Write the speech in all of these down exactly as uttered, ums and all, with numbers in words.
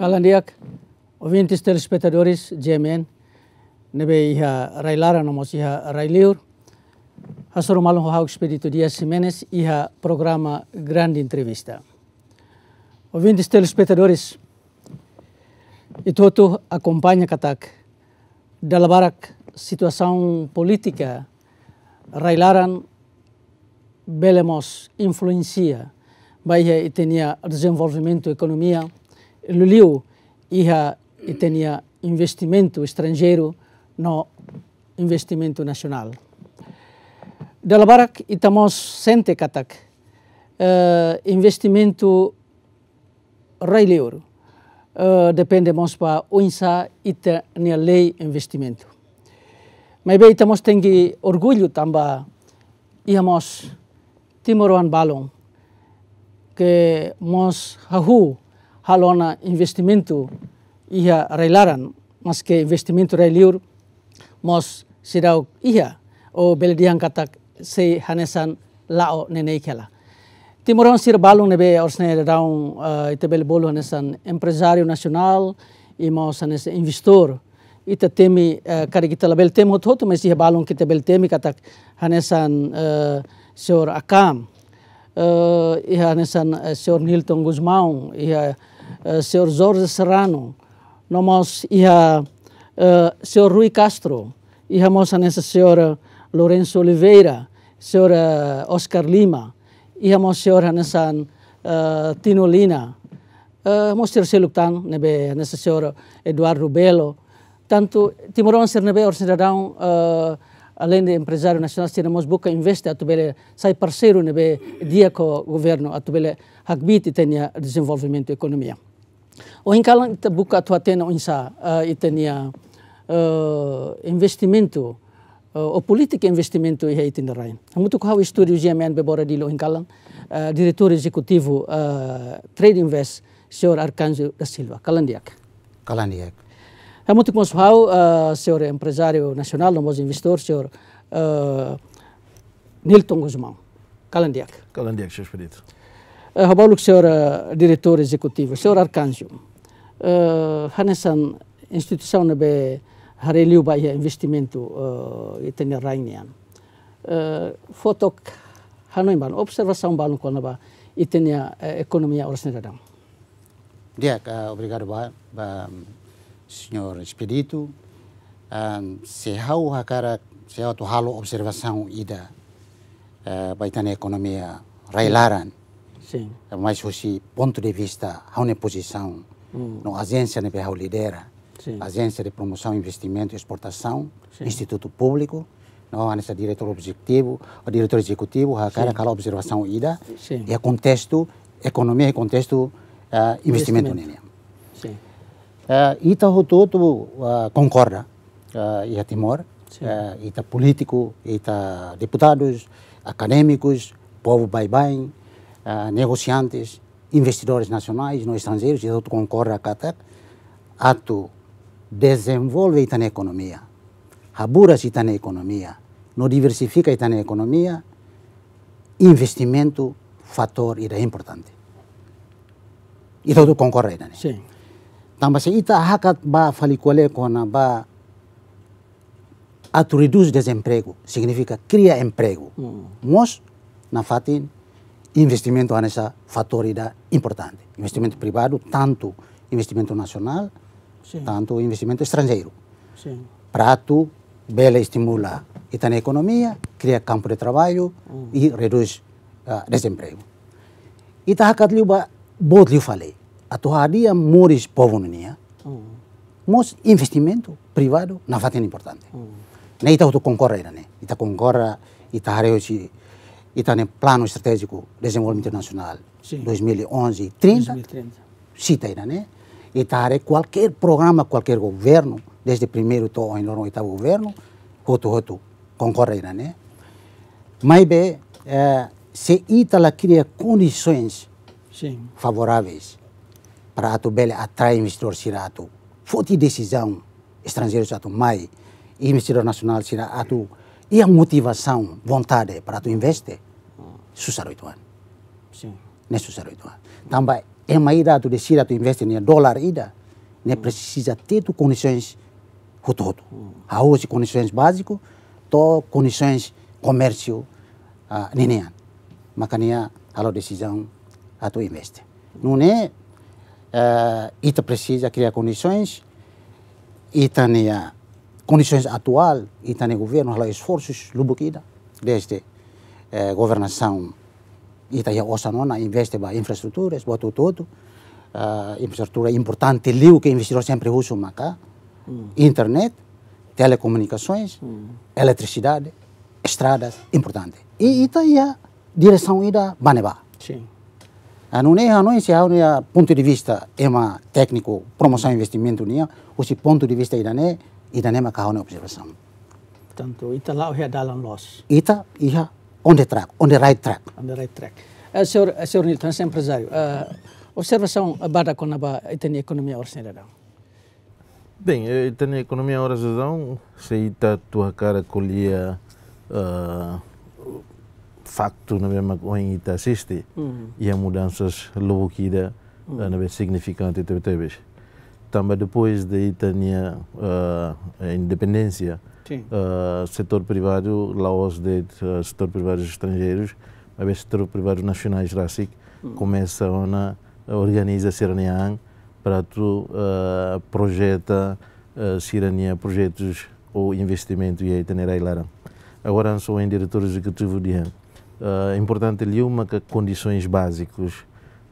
Kalan di'ak, ouvintes telespetadores G M N ne'ebé iha rai-laran no mós iha rai-liur. Hasoru malu ho ha'u Expedito Dias Ximenes iha programa Grande Entrevista. Ouvintes telespetadores, ita hotu akompaña katak dala barak situasaun polítika rai-laran bele mós influensia ba iha ita-nia dezenvolvimentu ekonomia, liuliu iha ita-nia investimentu estranjeiru no investimentu nasionál. Dala barak ita mós sente katak, eh, investimentu rai-liur, eh, depende mós ba oinsá ita-nia lei investimentu. Maibé ita mós tenke orgullu tanba iha mós timoroan balun ke mós hahú halo ona investimentu iha rai-laran, maske investimentu rai-liur mós seidauk iha, ou bele dehan katak sei hanesan la'o neineik hela. Timoroan sira balun ne'ebé oras ne'e daudaun, eh, ita bele bolu hanesan emprezáriu nasionál, i mós hanesan investidór. Ita temi, eh, karik ita labele temi hotu-hotu, mas iha balun ke ita bele temi katak hanesan, eh, señór Akam, eh, iha hanesan, eh, señór Nilton Gusmão, iha, eh, señór Jorge Serrano, no mós iha, eh, señór Rui Castro, iha mós hanesan señór, eh, Lourenço Oliveira, señór, eh, Oscar Lima, iha mós señór hanesan, eh, Tino Lina, eh, mós señór seluk tan ne'ebé hanesan señór Eduardo Belo. Tantu timoroan sira ne'ebé oras ne'e daudaun, eh, além de emprezáriu nasionál, sira mós buka investe atu bele sai parseiru ne'ebé di'ak ho governu atu bele hakbiit ita-nia dezenvolvimentu ekonomia. Ohin kalan ita buka atu hatene oinsá, eh, ita-nia, eh, investimentu, eh, ou polítika investimentu iha ita-nia rain. Hamutuk ho ha'u estúdiu G M N Bebora Dili ohin kalan, eh, diretór ezekutivu, eh, Trade Invest, señór Arcanjo da Silva. Kalan di'ak. Kalan di'ak. Hamutuk mós ho ha'u, eh, señór emprezáriu nasionál no mós investidór, señór, eh, Nilton Gusmão. Kalan di'ak. Kalan di'ak, señór Expedito. Eh, ha'u bolu señór, eh, diretór ezekutivu, señór Arcanjo. Eh, hanesan instituisaun ne'ebé haree liu ba iha investimentu, eh, ita-nia rain nian. Eh, fó took hanoin balun, observasaun balun kona-ba ita-nia, eh, ekonomia oras ne'e daudaun. Di'ak, ah, obrigadu ba, ba, señór Expedito. Ah, se ha'u hakarak, se ha'u atu halo observasaun ida, eh, ba ita-nia ekonomia rai-laran. Sin. Eh, mais husi pontu de vista ha'u-nia pozisaun, mm, no ajénsia ne'ebé ha'u lidera. Sin. Ajénsia de Promosaun Investimentu Esportasaun, sin, institutu públiku, no hanesan diretór objetivu, diretór ezekutivu, hakarak, sin, halo observasaun ida, sin, iha kontestu ekonomia, iha kontestu, eh, investimentu, investimentu nian. Sin. Eh, ita hotu-hotu, eh, konkorda, eh, iha Timor, sin, eh, ita polítiku, ita deputadus, akadémikus, povu baibain, eh, negosiantes, investidores nasionais no estranjeirus, ita hotu konkorda katak atu dezenvolve ita-nia ekonomia, haburas ita-nia ekonomia, no diversifika ita-nia ekonomia, investimentu fatór ida importante. Ita hotu konkorda ida-ne'e. Sin. Tanba se ita hakat ba fali ko'alia kona-ba atu redús dezempregu, signifika kria empregu. Hmm. Mós nafatin investimentu hanesan fatór ida importante. Investimentu privadu, tantu investimentu nasionál, sin, tantu investimentu estranjeiru. Sin. Para atu bele estimula ita-nia ekonomia, kria kampu de traballu, hmm, i redús, ah, dezempregu. Ita hakat liu ba boot liu fali. Atu hadi'a moris povu nian. Hmm. Mós investimentu privadu nafatin importante. Hmm. Ne'e ita hotu konkorda ida-ne'e. Ita konkorda, ita haree husi ita-nia Planu Estratéjiku Dezenvolvimentu Nasionál, sin, dois mil e onze trinta. Dois mil e trinta. Sita ida-ne'e. Ita haree kualkér programa, kualkér governu, desde primeiru to'o ohin loron oitavu governu, hotu-hotu konkorda ida-ne'e. Maibé, eh, se ita la kria kondisoens, sin, favoráveis para atu bele atrai investidór sira atu foti desizaun estranjeirus atu mai, investidór nasionál sira atu iha motivasaun, vontade para atu investe, susar uitoan. Sin. Ne'e susar uitoan. Tanba ema ida atu deside atu investe nia dolar ida, ne'e presiza tetu kondisoens hotu-hotu. Hahú husi kondisoens báziku to'o kondisoens komérsiu, ah, ninian. Maka nia halo desizaun atu investe. Nune'e, eh, ita presiza kria kondisoens, ita-nia kondisoens atuál, ita-nia governu halo esforsus lubuk ida, dezde, eh, governasaun ita iha osan ona investe ba infraestruturas, ba hotu-hotu, eh, infraestrutura importante liu ke investidór sempre husu maka internet, telekomunikasoens, eletrisidade, estradas, importante. I ita iha diresaun ida ba ne'ebá. Sin. Anu ne'e, anu ne'e, se ha'u-nia pontu de vista ema tékniku promosaun investimentu nian, husi pontu de vista ida-ne'e, ida-ne'e maka ha'u-nia observasaun. Portantu, ita la'o iha dalan loos. Ita iha on the track, on the right track. On the right track. Eh, señór, eh, señór Nilton, hanesan emprezáriu, eh, observasaun, eh, badak kona-ba ita-nia ekonomia oras ne'e daudaun? Bem, eh, ita-nia ekonomia oras daudaun, se ita atu hakarak ko'alia, ah, faktu ne'ebé mak ohin ita asiste, iha mudansas lubuk ida, ah, ne'ebé signifikante tebetebes. Tanba depois de ita-nia, ah, independénsia, ah, setór privadu, la'ós de'it, ah, setór privadu estranjeirus, maibé setór privadu nasionais rasik, komesa ona, ah, organiza sira-nia an, para atu, eh, projeta, eh, sira-nia projetus ou investimentu iha ita-nia rai laran. Agora, hanesan ohin diretór ezekutivu dehan, eh, importante liu maka kondisoens bázikus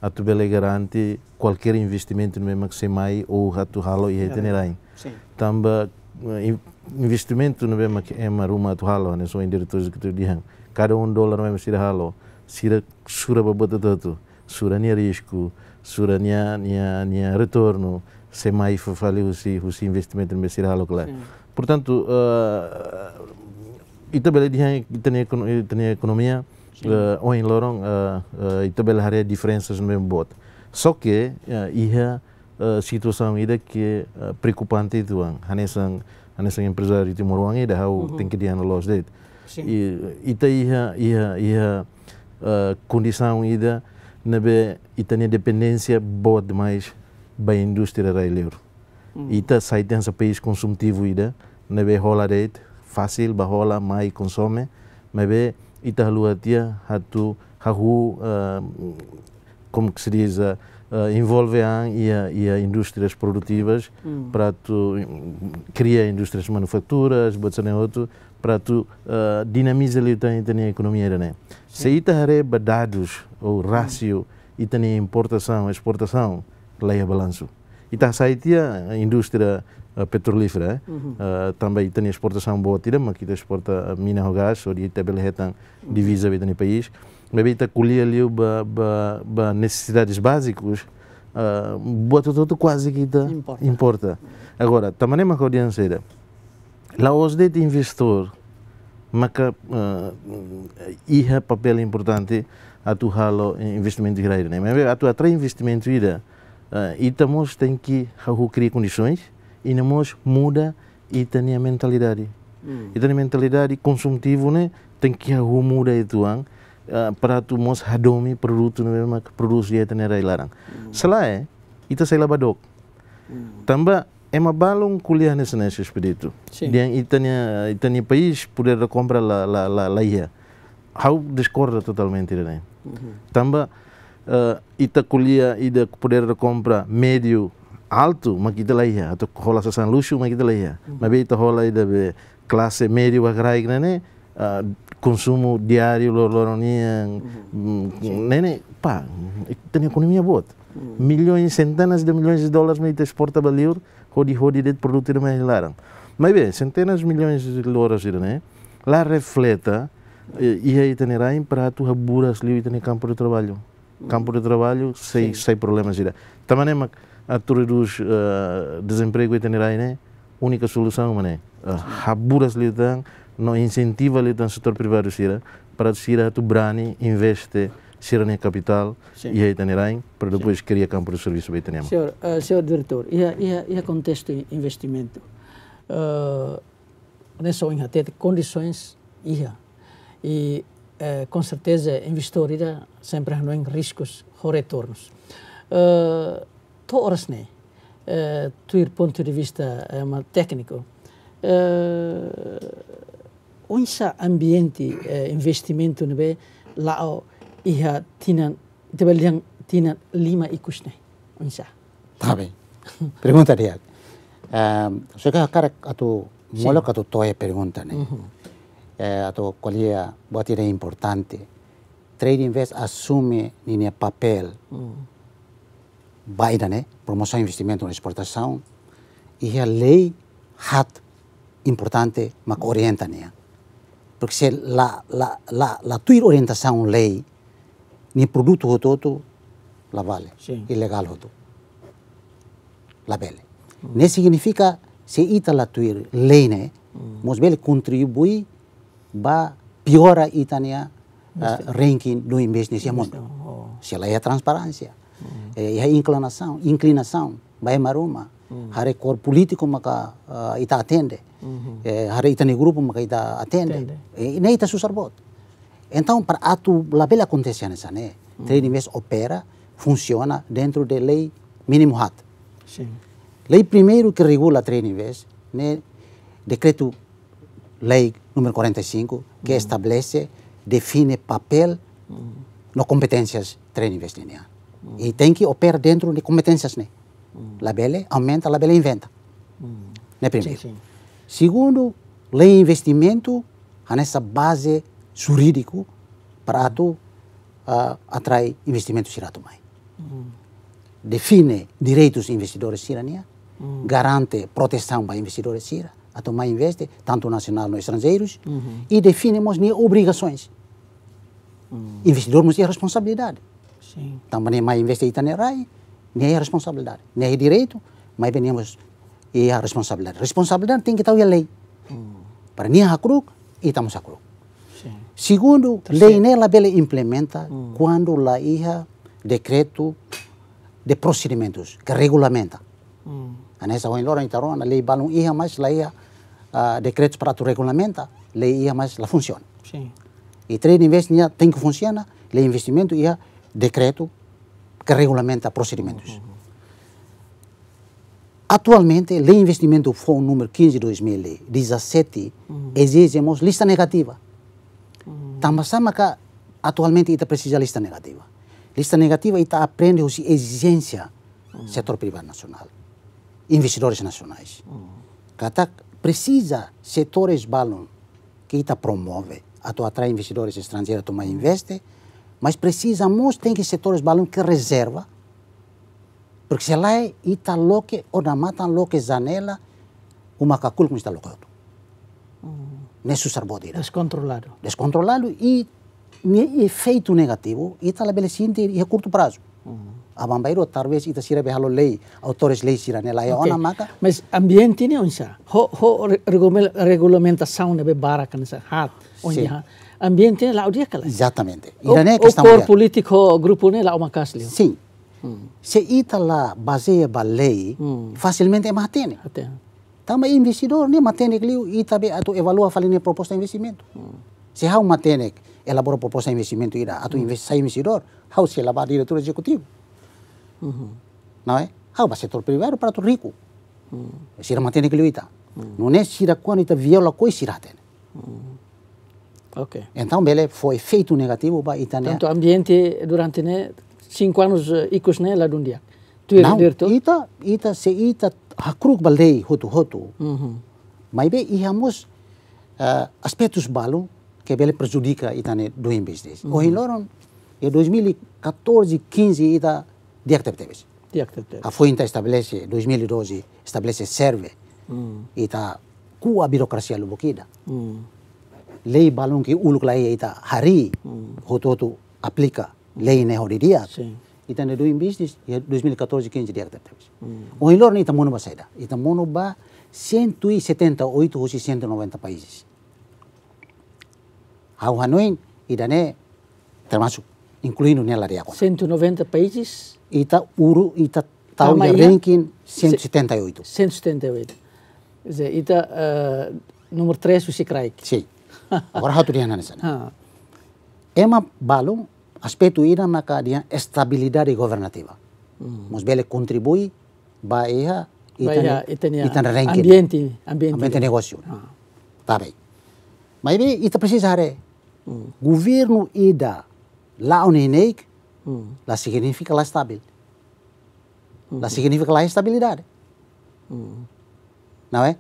atu bele garante kualkér investimentu ne'ebé mak sei mai ou atu halo iha ita-nia rai. Sin. Tanba, eh, in-, investimentu ne'ebé mak ema ruma atu halo, hanesan ohin diretór ezekutivu dehan, kada um dólar ne'ebé mak sira halo, sira sura ba buat hotu-hotu, sura nia risku, sura nia, nia, nia retornu, se mai fó fali husi, husi investimentu ne'ebé sira halo ka lae. Sin. Portantu, eh, ita bele dehan ita-nia ekono-, ita-nia ekonomia, eh, ohin loron, eh, eh, ita bele haree diferensas ne'ebé boot. Só ke, eh, iha, eh, situasaun ida ke, eh, preokupante uitoan. Hanesan, hanesan emprezáriu timoroan ida ha'u tenke dehan loos de'it. Sin. I, ita iha, iha, iha, eh, kondisaun ida ne'ebé ita-nia dependénsia boot demais ba indústria rai-li'ur. Ita sai hanesan país konsumtivu ida ne'ebé hola de'it, fasil ba hola, mai konsome, maibé ita haluha tiha atu hahú, eh, como que se diz, eh, eh, envolve an iha, iha indústrias produtivas para atu, mm, kria indústrias manufaturas, buat sira-ne'e hotu, para atu, eh, dinamiza liután ita-nia ekonomia ida-ne'e. Se ita haree ba dadus ou rasio ita-nia importasaun, esportasaun, la iha balansu. Ita hasai tiha, eh, indústria, eh, petrolífera, eh. Eh, tanba ita-nia esportasaun boot ida, mak ita esporta, eh, mina ho gás, hodi ita bele hetan diviza ba ita-nia país. Maibé ita ko'alia liu ba, ba, ba nesesidades bázikus, eh, buat hotu-hotu kuaze ke ita importa. Importa. Agora, tanba ne'e mak ha'u dehan saida, la'ós de'it investidór maka, eh, iha papél importante atu halo investimentu iha rai ida-ne'e. Maibé atu atrai investimentu ida, eh, ita mós tenke hahú kria kondisoens, i ita mós muda ita-nia mentalidade. Ita-nia mentalidade konsumtivu ne'e tenke hahú muda uitoan, eh, para atu mós hadomi produtu ne'ebé mak prodús iha ita-nia rai laran. Se lae, ita sei la ba dook. Tanba ema balun ko'alia hanesan ne'e, señór Expedito. Sin. Dehan ita-nia, ita-nia país podér da kompra la, la, la, la iha. Ha'u diskorda totalmente ida-ne'e. Tanba, eh, ita ko'alia ida podér da kompra médiu altu, mak ita la iha, atu hola sasán luxu, mak ita la iha. Maibé ita hola ida be klase médiu ba kraik ne'e, ah, konsumu diáriu lor-, loron nian, mm, ne'e ne'e, pá, ita-nia ekonomia boot. Milhões, centenas de milhões de dólares mak ita esporta ba li'ur, hodi, hodi de'it produtu ida mai laran. Maibé, centenas de milhões de dólares ida-ne'e la refleta, eh, iha ita-nia rain para atu haburas liu ita-nia kampu de traballu. Kampu de traballu sei, sai problema sira. Tanba ne'e mak atu redús, eh, dezempregu iha ita-nia rain ne'e, únika solusaun mak ne'e, eh, haburas liután, no insentiva liután setór privadu sira, para sira atu brani investe sira-nia kapitál iha ita-nia rain, para depois kria kampu de servisu ba ita-nia. Señór, eh, señór diretór, iha, iha, iha kontestu investimentu, eh, hanesan ohin hatete, kondisoens iha. I, eh, com certeza, investidór ida sempre hanoin riskus ho retornus. Eh, to'o oras ne'e, eh, tuir pontu de vista, eh, ema tékniku, eh, oinsá ambiente, eh, investimentu ne'ebé la'o iha tinan, ita bele dehan tinan lima ikus ne'e, oinsá? Tá bem. Pergunta di'ak. Ehm, só ke hakarak atu, sin, molok atu to'o iha pergunta ne'e. Mhm. Eh, atu ko'alia buat ida importante. Trade Invest asume ninia papél, mm, ba ida-ne'e, promosaun investimentu no esportasaun, iha lei haat importante mak orienta nia. Porque se la, la, la, la tuir orientasaun lei, nia produtu hotu-hotu la vale, sin, ilegál hotu. Labele. Mm. Ne'e signifika se ita la tuir lei ne'e, mm, mós bele kontribui ba piora ita-nia, ah, ranking Doing Business iha mundu. Business, oh. Se la iha transparénsia, mm, eh, iha inklinasaun, inklinasaun ba ema ruma, mm, haree kór polítiku maka, ah, ita atende, mhm, eh, haree ita-nia grupu maka ita atende. Atende. Eh, ne'e ita susar boot. Entaun, para atu labele akontese hanesan ne'e, mm, Trade Invest opera, funsiona dentro de lei mínimu haat. Sin. Lei primeiru ke regula Trade Invest ne'e dekretu lei númeru quarenta e cinco, ke, mm, estabelese, define papél, mm, no kompeténsias Trade Invest nian. Mm. I tenke opera dentro de kompeténsias ne'e. Mm. Labele aumenta, labele inventa. Mm. Ne'e primeiru. Sin, sin. Segundu, lei investimentu hanesan baze jurídiku para atu, ah, atrai investimentu sira atu mai. Mm. Define direitus investidores sira-nian, mm, garante protesaun ba investidores sira atu mai investe, tantu nasionál no estranjeirus, mhm, i define mós nia obrigasoens. Mm. Investidór mós iha responsabilidade. Sin. Tanba nia mai investe ita-nia rai, nia iha responsabilidade. Nia iha direitu, maibé nia mós iha responsabilidade. Responsabilidade tenke tau iha lei. Mm. Para nia hakru'uk, ita mós hakru'uk. Sin. Segundu, terceiro, lei ne'e labele implementa, mm, kuandu la iha dekretu de prosedimentus, ke regulamenta. Mm. Hanesan ohin loron ita rona, lei balun iha, mas la iha, ah, dekretus para atu regulamenta, lei iha, mas la funsiona. Sin. I Trade Invest nian tenke funsiona, lei investimentu iha dekretu ke regulamenta prosedimentus. Mhm. Atualmente, lei investimentu foun númeru quinze dois mil e dezassete, mhm, ezije mós lista negativa. Mhm. Tanba sá maka atualmente ita presiza lista negativa? Lista negativa ita aprende husi ezijénsia, mhm, setór privadu nasionál, investidores nasionais. Mhm. Katak presiza setores balun ke ita promove atu atrai investidores estranjeirus atu mai investe, mas presiza mós tenke setores balun ke rezerva, porque se lae ita loke odamatan, loke janela, uma kakuluk mós ita loke hotu. Hmm. Ne'e susar boot ida. Deskontroladu. Deskontroladu i nia efeitu negativu ita labele sente iha kurtu prazu. Hmm. Aban-bainrua, talvés ita sira be halo lei, autores lei sira-ne'e la iha, oke, ona maka. Mas ambiente ne'e oinsá? Ho, ho re-, regulamentasaun ne'ebé barak hanesan haat, sin, oinsá? Ambiente ne'e la'o di'ak ka lae? Exatamente. Ida-ne'e kestaun kór di'ak. Polítiku ho grupu ne'e la'o maka'as liu. Sin. Hmm. Se ita la bazeia ba lei, hmm, fasilmente ema hatene. Hatene. Tanba investidór ne'e matenek liu, ita be atu evalua fali nia proposta investimentu. Hmm. Se ha'u matenek elabora proposta investimentu ida atu, hmm, invest-, sai investidór, ha'u sei la ba diretór ezekutivu. Mhm. Não é? Ha'u ba setór privadu para atu riku. Hmm. Sira matenek liu ita. Hmm. Nune'e sira kuandu ita viola ko'i sira hatene. Hmm. Oke. Entaun bele fó efeitu negativu ba ita-nia. Tantu ambiente durante ne'e cinco anos, eh, ikus ne'e ladún di'ak. Tuir, não, tuir tu? Ita, ita, se ita hakru'uk ba lei hotu-hotu. Mhm. Maibé iha mós, eh, aspetus balun ke bele prejudika ita-nia doing business. Mhm. Ohin loron, iha dois mil e catorze, quinze ita di'ak tebetebes. Di'ak tebetebes. Hafoin ita estabelese, dois mil e doze, estabelese SERVE. Hmm. Ita ko'a birokrasia lubuk ida. Hmm. Lei balun ke uluk laiha ita harii, hmm, hotu-hotu aplika lei ne'e ho di'ak. Sin. Ita-nia doing business, iha dois mil e catorze, quinze di'ak tebetebes. Hmm. Ohin loron ita monu ba saida? Ita monu ba cento e setenta e oito husi cento e noventa países. Ha'u hanoin, ida-ne'e termasuk inkluindo ne'e la di'ak ona. Cento e noventa países? Ita uru, ita tau iha, tama iha ranking cento e setenta e oito. Cento e setenta e oito. Quer dizer, ita, eh, númeru três husi kraik. Sin. Agora ha'u atu dehan hanesan ne'e. Ha. Ema balun, aspetu ida maka dehan estabilidade governativa. mós bele kontribui ba iha ita-nia, ita-nia ranking, ambiente, ambiente negósiu. Tá bem. Maibé ita presiza haree. Governu ida la'o neineik la signifika la stabil. La signifika la estabilidade. Não é?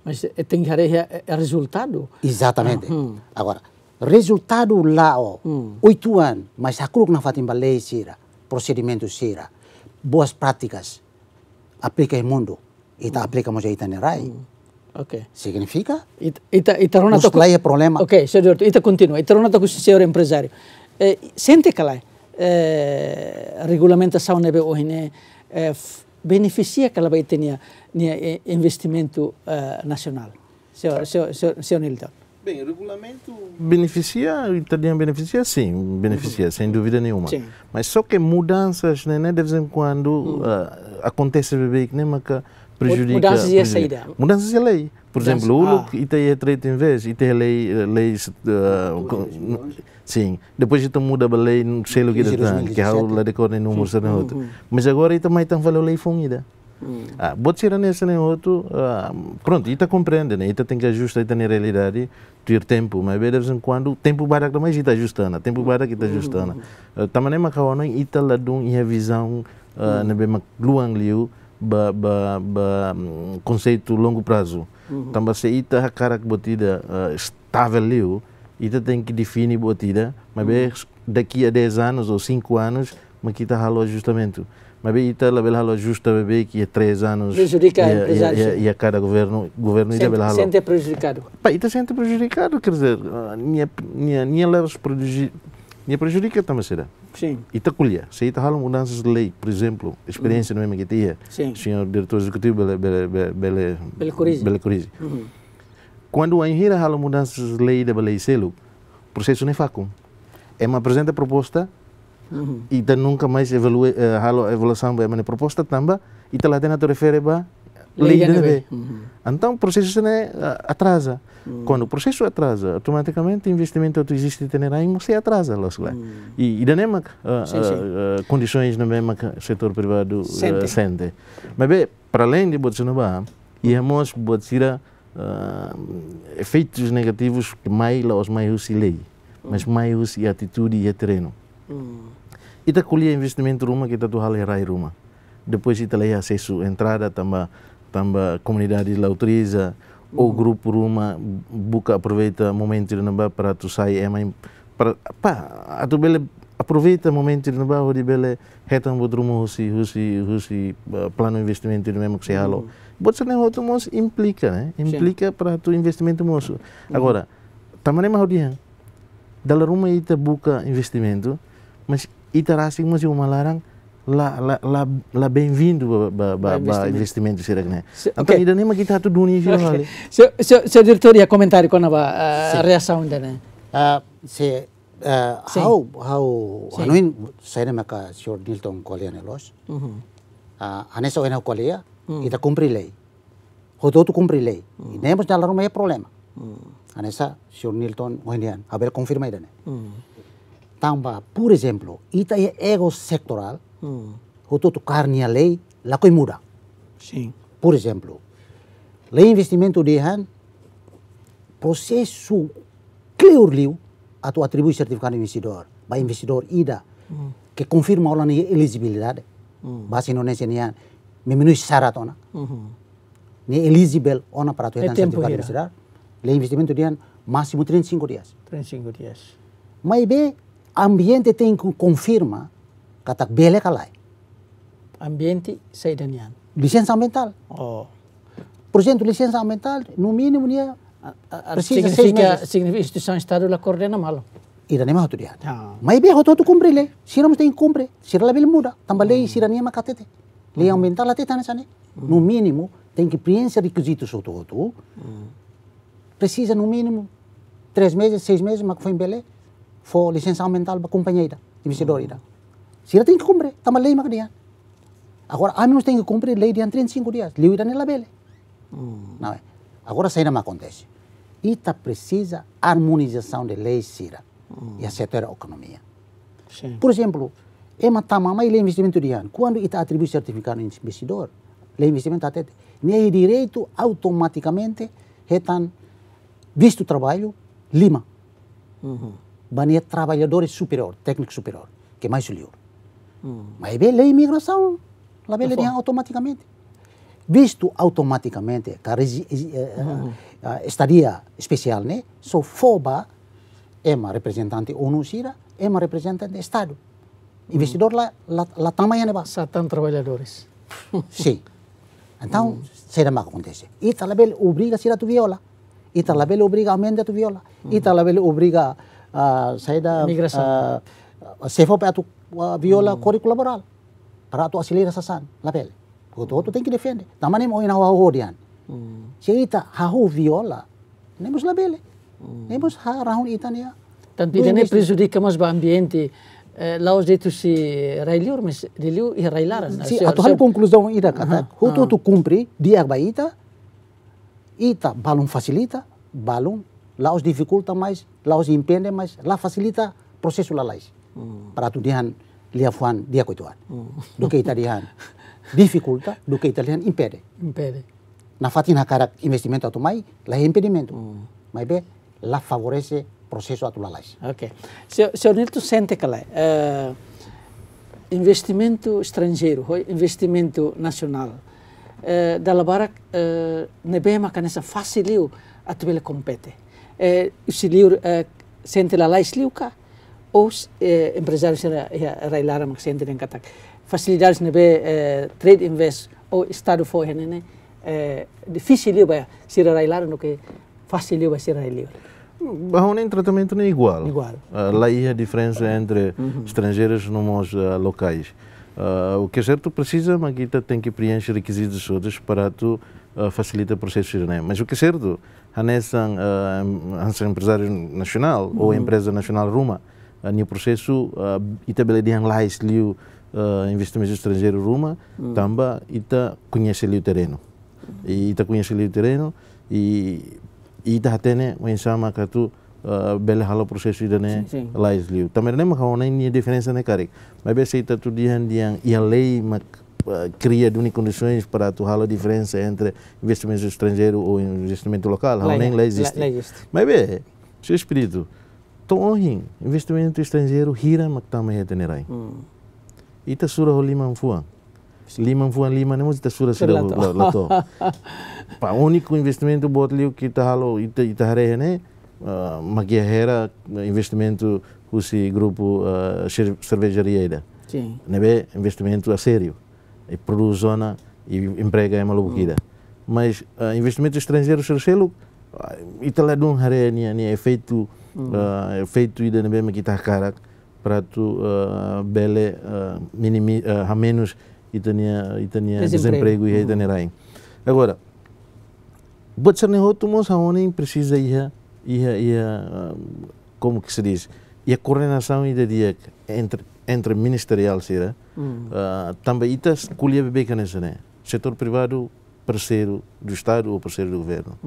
Mas, eh, tenke haree iha, eh, rezultadu. Exatamente. Agora, rezultadu la'o oitu an, mas hakru'uk nafatin ba lei sira, prosedimentu sira, boas práticas, aplika iha mundu, ita aplika mós iha ita-nia rai. Oke. Signifika? Ita, ita, ita rona toku. Mós la iha problema. Oke, señór diretór, ita kontinua. Ita rona toku señór emprezáriu. Eh, sente ka lae, eh, regulamentasaun ne'ebé ohin ne'e, eh, benefisia ka lae ba ita-nia, nia, eh, investimentu, eh, nasionál. Señór, señór, señór, señór Nilton. Bem, regulamentu benefisia, ita dehan benefisia, sin, benefisia, sem dúvida nenhuma. Sin. Mas só que mudansas ne'e, ne'e, de vez em quando, ah, akontese beibeik ne'e maka prejudika, mudansas iha saida? Mudansas iha lei. Por exemplo, uluk ita iha trade invest, ita iha lei, eh, leis, eh, sin. Depois ita muda ba lei seluk ida tan, ke ha'u la dekór nia númeru sira-ne'e hotu. Mas agora ita mai tan fali lei foun ida. Ah, buat sira-ne'e sira-ne'e hotu, ah, prontu, ita komprende, ne'e? Ita tenke ajusta ita-nia realidade, tuir tempu, maibé de vez em quando, tempu badak demais ita ajusta ona, tempu badak ita ajusta ona. Eh, tanba ne'e mak ha'u hanoin ita ladún iha vizaun, eh, ne'ebé mak luan liu ba, ba, ba, mm, konseitu longu prazu. Tanba se ita hakarak buat ida, eh, estável liu, ita tenke define buat ida, maibé daqui a dez anos ou cinco anos, mak ita halo ajustamentu. Maibé ita labele halo ajusta beibeik iha três anos, prejudika iha, iha, emprezáriu, iha, iha kada governu, governu ida labele halo. Sente prejudikadu. Pá, ita sente prejudikadu, quer dizer, ah, nia, nia, nia levas prejuji-, nia prejudika tanba saida? Sin. Ita ko'alia, se ita halo mudansas lei, por exemplo, esperiénsia ne'ebé mak ita iha, señór diretór ezekutivu bele, bele, bele, bele korrije. Bele korrije. Kuandu wainhira halo mudansas lei ida ba lei seluk, prosesu ne'e fakun. Ema aprezenta proposta, ita nunka mais evalua, eh, halo avaliasaun ba ema nia proposta tanba ita la hatene atu refere ba lei ida ne'ebé. Entaun prosesu ne'e, eh, atraza. Kuandu prosesu atraza, automatikamente investimentu atu eziste iha ita-nia rai mós sei atraza, loos ka lae. I, ida-ne'e mak, eh, eh, kondisoens ne'ebé mak setór privadu, eh, sente. Maibé, para além de buat sira-ne'ebá, iha mós buat sira, ah, efeitus negativus ke mai la'ós mai husi lei, mas mai husi atitude iha terrenu. Ita ko'alia investimentu ruma ke ita atu halo iha rai ruma. Depois ita la iha asesu entrada tanba, tanba komunidade la autoriza, ou grupu ruma buka aproveita momentu ida-ne'ebá para atu sai ema im-, para, pá, atu bele aproveita momentu ida-ne'ebá hodi bele hetan buat ruma husi, husi, husi, eh, planu investimentu ida-ne'ebé mak sei halo. Buat sira-ne'e hotu mós implika, ne'e? Implika para atu investimentu mosu. Agora, tanba ne'e mak ha'u dehan, dala ruma ita buka investimentu, mas ita rasik mós iha uma laran la, la, la, la bem-vindo ba, ba, ba, ba investimentu sira-ne'e. Entaun, ida-ne'e mak ita atu duni fila fali. Señór, señór, señór diretór iha komentáriu kona-ba, eh, reasaun ida-ne'e? Ah, se Eh, ha'u, ha'u hanoin saida maka señór Nilton ko'alia ne'e loos. Ah, hanesan ohin ha'u ko'alia, ita kumpre lei. Hotu-hotu kumpre lei. I ne'e mós dala ruma iha problema. Hanesan señór Nilton ohin dehan, ha'u bele konfirma ida-ne'e. Tanba, por ezemplu, ita iha ego setorál, hotu-hotu kaer nia lei, lakohi muda. Sin. Por ezemplu, lei investimentu dehan, prosesu kleur liu atu atribui sertifikadu investidór ba investidór ida ke konfirma ona nia elejibilidade. Bahasa Indonesia nian memenuhi syarat ona. Nia eligible ona para atu hetan sertifikadu investidór. Lei investimentu dehan másimu trinta e cinco dias. Trinta e cinco dias. Maibé ambiente tenke konfirma katak bele ka lae. Ambiente saida nian? Lisensa ambientál. Oh. Por ezemplu, lisensa ambientál, no mínimu nia presiza seis meses. Signifika instituisaun Estadu la koordena malu. Ida-ne'e mak ha'u dehan. Maibé hotu-hotu kumpre lei. Sira mós tenke kumpre. Sira labele muda. Tanba lei sira-nian mak hatete. Lei ambientál hatete hanesan ne'e. No mínimu tenke preenxe rekizitus hotu-hotu. Presiza no mínimu três meses, seis meses, mak foin bele fó lisensa ambientál ba kompañia ida, investidór ida. Sira tenke kumpre, tanba lei mak dehan. Agora, ami mós tenke kumpre lei dehan trinta e cinco dias, liu ida-ne'e labele. Não é? Agora, saida mak akontese? Ita presiza armonizasaun de lei sira iha setór ekonomia. Sin. Por ezemplu, Ema tama mai lee investimentu dehan. Kuandu ita atribui sertifikadu investidór, lee investimentu hatete, nia iha direitu automatikamente hetan vistu traballu lima. Ba nia traballadór superiór, tékniku superiór, ke mai husi liur. Maibé lei imigrasaun labele dehan automatikamente. Vistu automatikamente, ka resi-, eh, eh, eh, estadia espesiál ne'e, só fó ba ema reprezentante ONU sira, ema reprezentante Estadu. Investidór la, la, la tama iha ne'ebá. Satan traballadores. Sin. Entaun, saida mak akontese? Ita labele obriga sira atu viola. Ita labele obriga Amenda atu viola. Ita labele obriga, ah, saida, Migrasaun. Ah, SEFOPE atu, ah, viola Kódigu Laborál para atu aselera sasán. Labele. Hotu-hotu tenke defende. Tanba ne'e mak ohin ha'u hodi an. Se ita hahú viola, ne'e mós labele. Ne'e mós harahun ita-nia. Tantu ita-nia prejudika mós ba ambiente, eh, la'ós de'it husi rai-liur, mas liuliu iha rai-laran. Sin, atu halo konkluzaun ida katak, hotu-hotu kumpre di'ak ba ita, ita balun fasilita, balun la'ós difikulta mais, la'ós impede mais, la fasilita prosesu lalais. Para atu dehan liafuan di'ak uitoan. Duké ita dehan difikulta, duké ita dehan impede. Impede. Nafatin hakarak investimentu atu mai, la impedimentu. Maibé, la favorese prosesu atu lalais. Ok. Señór, señór Nilton sente ka lae, eh, investimentu estranjeiru, ho investimentu nasionál, eh, dala barak, eh, ne'ebé mak hanesan fasil liu atu bele kompete. Eh, husi liur, eh, sente lalais liu ka? Ou, eh, emprezáriu sira iha rai-laran mak sente dehan katak fasilidades ne'ebé, eh, Trade Invest ou Estadu fó iha ne'e ne'e, eh, difisil liu ba sira rai-laran duké fasil liu ba sira rai-liur. Ba ha'u-nia tratamentu ne'e iguál. Iguál. Ah, la iha diferensa entre estranjeirus no mós, ah, lokais. Ah, o que é certo, presiza, mas ita tenke preenxe rekizitus hotu para atu, ah, fasilita prosesu ne'e. Mas o que é certo, hanesan, ah, em-, hanesan emprezáriu nasionál ou empreza nasionál ruma, ah, nia prosesu, ah, ita bele dehan lais liu, ah, investimentu estranjeiru ruma, tanba ita koñese liu terrenu. I ita koñese liu terrenu, i, i ita hatene oinsá mak atu, ah, bele halo prosesu ida-ne'e lais liu. Tanba ne'e mak ha'u hanoin nia diferensa ne'e karik. Maibé se ita atu dehan, dehan iha lei mak, ah, kria duni kondisoens para atu halo diferensa entre investimentu estranjeiru ou investimentu lokál, ha'u hanoin la eziste. La eziste. Maibé, señór Espírito, to'o ohin, investimentu estranjeiru hira mak tama iha ita-nia rain? Ita sura ho liman-fuan. Liman-fuan lima ne'e mós ita sura sira la to'o. La, la to'o. Ba úniku investimentu boot liu ke ita halo, ita, ita haree ne'e, ah, mak iha hela investimentu husi grupu, ah, ser-, servejaria ida. Sin. Ne'ebé investimentu a sériu. I produz ona, i emprega ema lubuk ida. Mas, ah, investimentu estranjeiru sira seluk, ah, ita ladún haree nia, nia efeitu, ah, efeitu ida ne'ebé mak ita hakarak para atu, ah, bele, ah, minimi-, ah, hamenus ita-nia, ita-nia dezempregu iha ita-nia rain. Agora, buat sira-ne'e hotu mós ha'u hanoin presiza iha, iha, iha, ah, como que se diz? Iha koordenasaun ida di'ak entre, entre ministeriál sira, ah, tanba ita ko'alia bebeik hanesan ne'e. Setór privadu parseiru do Estadu ou parseiru do governu.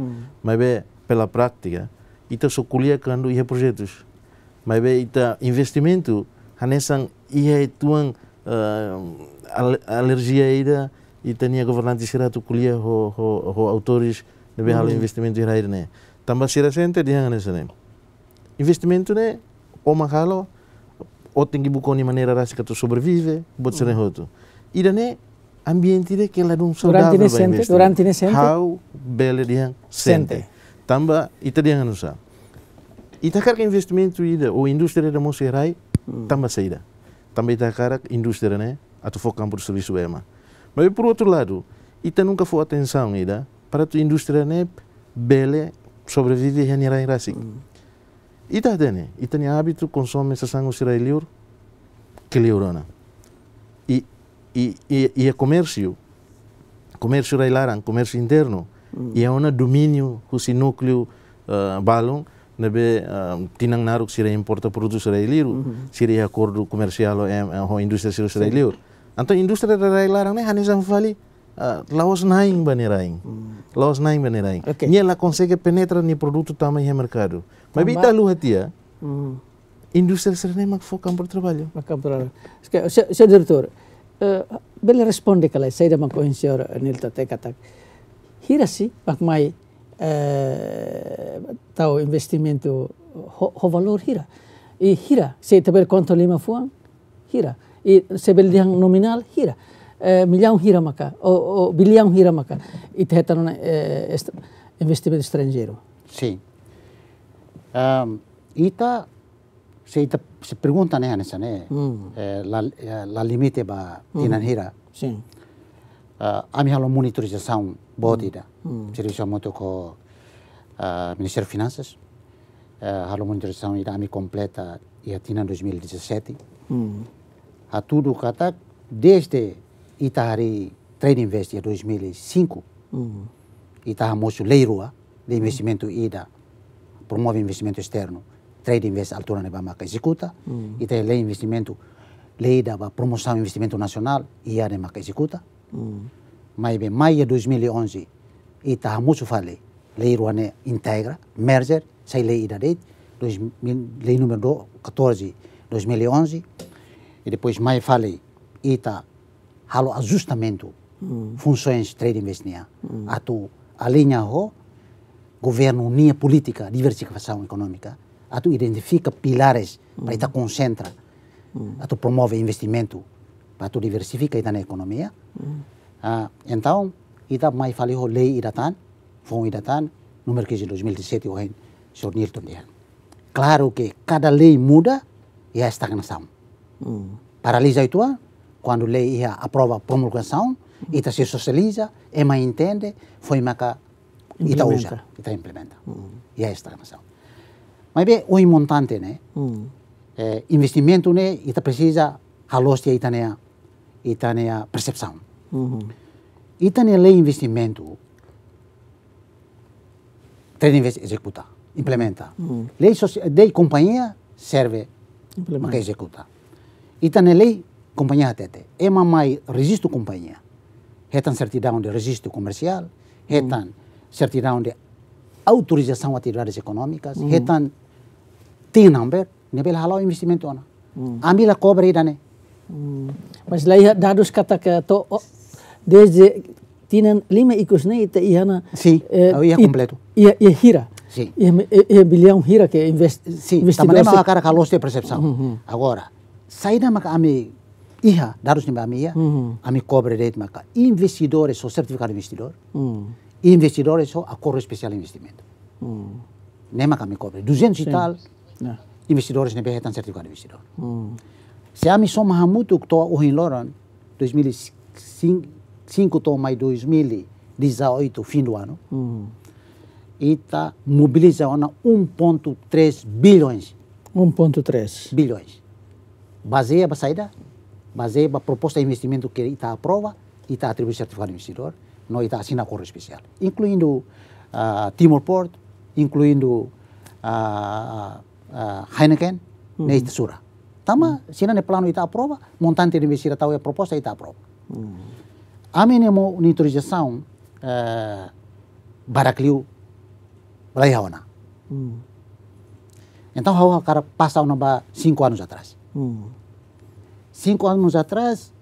Maibé, pela prátika, ita só ko'alia kuandu iha projetus. Maibé ita investimentu, hanesan iha uitoan, eh, al-, alerjia ida, ita-nia governante sira atu ko'alia ho, ho, ho autores ne'ebé halo investimentu iha rai ne'e. Tanba sira sente dehan hanesan ne'e. Investimentu ne'e, ó mak halo, ó tenke buka ó-nia maneira rasik atu sobrevive, buat sira-ne'e hotu. Ida-ne'e, ambiente ida ke ladún saudavel ba investimentu. Durante ne'e sente, durante ne'e sente? Ha'u bele dehan sente. Sente. Tanba, ita dehan oinsá. Ita hakarak investimentu ida, ou indústria ida mosu iha rai, tanba saida. Tanba ita hakarak indústria ne'e, atu fó kampu de servisu ba ema. Mas, por outro lado, ita nunka fó atensaun ida, para atu indústria ne'e bele sobrevive iha nia rain rasik. Ita hatene, ita-nia hábitu konsome sasán husi rai-liur, ke liur ona. I, i, i, i komérsiu, komérsiu rai-laran, komérsiu internu, iha ona domíniu husi núkleu, eh, balun, ne'ebé, eh, tinan naruk sira importa produtu rai-liur, sira iha akordu komersiál ho, em, ho indústria sira rai-liur. Entaun indústria rai-laran ne'e hanesan fali, ah, la'ós na'in ba nia rain. La'ós na'in ba nia rain. Oke. Nia la konsege penetra nia produtu tama iha merkadu. Maibé ita haluha tiha. Indústria sira-ne'e mak fó kampu traballu. Mak kampu traballu. Oke, se-, señór diretór, eh, bele responde ka lae, saida mak ohin señór Nilton hatete katak hira sei mak mai, eh, tau investimentu ho, ho valór hira. I hira, se ita bele konta liman fuan, hira. I se bele dehan nominál, hira. Eh, millaun hira maka, ou, ou biliaun hira maka ita hetan ona, eh, est-, investimentu estranjeiru. Sin. Am, ita, se ita, se pergunta ne'e hanesan ne'e, Hmm. eh, la, eh, la limite ba Hmm. tinan hira. Sin. Ah, ami halo monitorizasaun boot Hmm. ida. Hmm. Servisu hamutuk ho, ah, Ministériu Finansas. Eh, halo monitorizasaun ida ami kompleta iha tinan dois mil e dezassete. Hmm. Hatudu katak, desde ita harii Trade Invest iha dois mil e cinco, Hmm. ita hamosu lei rua, lei investimentu ida, promove investimentu esternu, Trade Invest altura ne'ebá maka ezekuta, Hmm. ita lei investimentu, lei ida ba promosaun investimentu nasionál, iha ne'e maka ezekuta. Hmm. Maibé mai iha dois mil e onze, ita hamosu fali, lei rua ne'e integra, merger, sai lei ida de'it, dois mil, lei númeru do, catorze, dois mil e onze, i depois mai fali, ita halo ajustamentu, Hmm. funsoens Trade Invest nian, Hmm. atu aliña ho governu nia polítika diversifikasaun ekonómika, atu identifika pilares para Hmm. ita konsentra, Hmm. atu promove investimentu, para atu diversifika ita-nia ekonomia. Hmm. Ah, entaun, ita mai fali ho lei ida tan, foun ida tan, númeru quinze dois mil e dezassete, ohin señór Nilton dehan. Klaru ke kada lei muda, iha estagnasaun. Hmm. Paraliza uitoan, kuandu lei iha aprova promulgasaun, Hmm. ita sei sosializa, ema entende, foin maka ita uza, Implementa. ita implementa. Hmm. Iha estagnasaun. Maibé, ohin montante ne'e, Hmm. eh, investimentu ne'e, ita presiza halo tiha ita-nia, ita-nia persepsaun. Mhm. Ita-nia lei investimentu, Trade Invest ezekuta, implementa. Hmm. Lei sosi-, lei kompañia serve Implementa. maka ezekuta. Ita-nia lei kompañia hatete, ema mai rejistu kompañia, hetan sertidaun de rejistu komersiál, Hmm. hetan sertidaun de autorizasaun atividades ekonómikas, Hmm. hetan TIN number, ne'ebé bele hala'o investimentu ona. Hmm. Ami la kobre ida-ne'e. Hmm. Mas la iha dadus katak to'o, o, desde tinan lima ikus ne'e ita iha ona, Sin, eh, ha'u iha i-, kompletu. iha, iha hira. Sin. Iha mi-, iha, iha biliaun hira ke invest-, Sin, investidór tanba ne'e mak sira hakarak halo tiha persepsaun. Hmm, hmm. Agora, saida maka ami iha, dadus ne'ebé ami iha, Hmm. ami kobre de'it maka investidores ho sertifikadu investidór, Hmm. investidores ho akordu espesiál investimentu. Hmm. Ne'e maka ami kobre. Duzentos e Sin. tal Ya. investidores ne'ebé hetan sertifikadu investidór. Hmm. Se ami soma hamutuk to'o ohin loron, dois mil e cinco to'o mai dois mil e dezoito, fim do ano, Hmm. ita mobiliza ona um ponto três bilhões. Um ponto três. Bilhões. Bazeia ba saida? Bazeia ba proposta investimentu ke ita aprova, ita atribui sertifikadu investidór, no ita asina akordu espesiál. Inkluindu, ah, Timor Port, inkluindu, ah, ah, Heineken, Mhm. ne'e ita sura. Tanba, Mhm. sira-nia planu ita aprova, montante ne'ebé sira tau iha proposta ita aprova. Mhm. Ami-nia monitorizasaun, eh, barak liu, la iha ona. Mhm. Entaun, ha'u hakarak pasa ona ba cinco anos atrás. Mhm. Cinco anos atrás,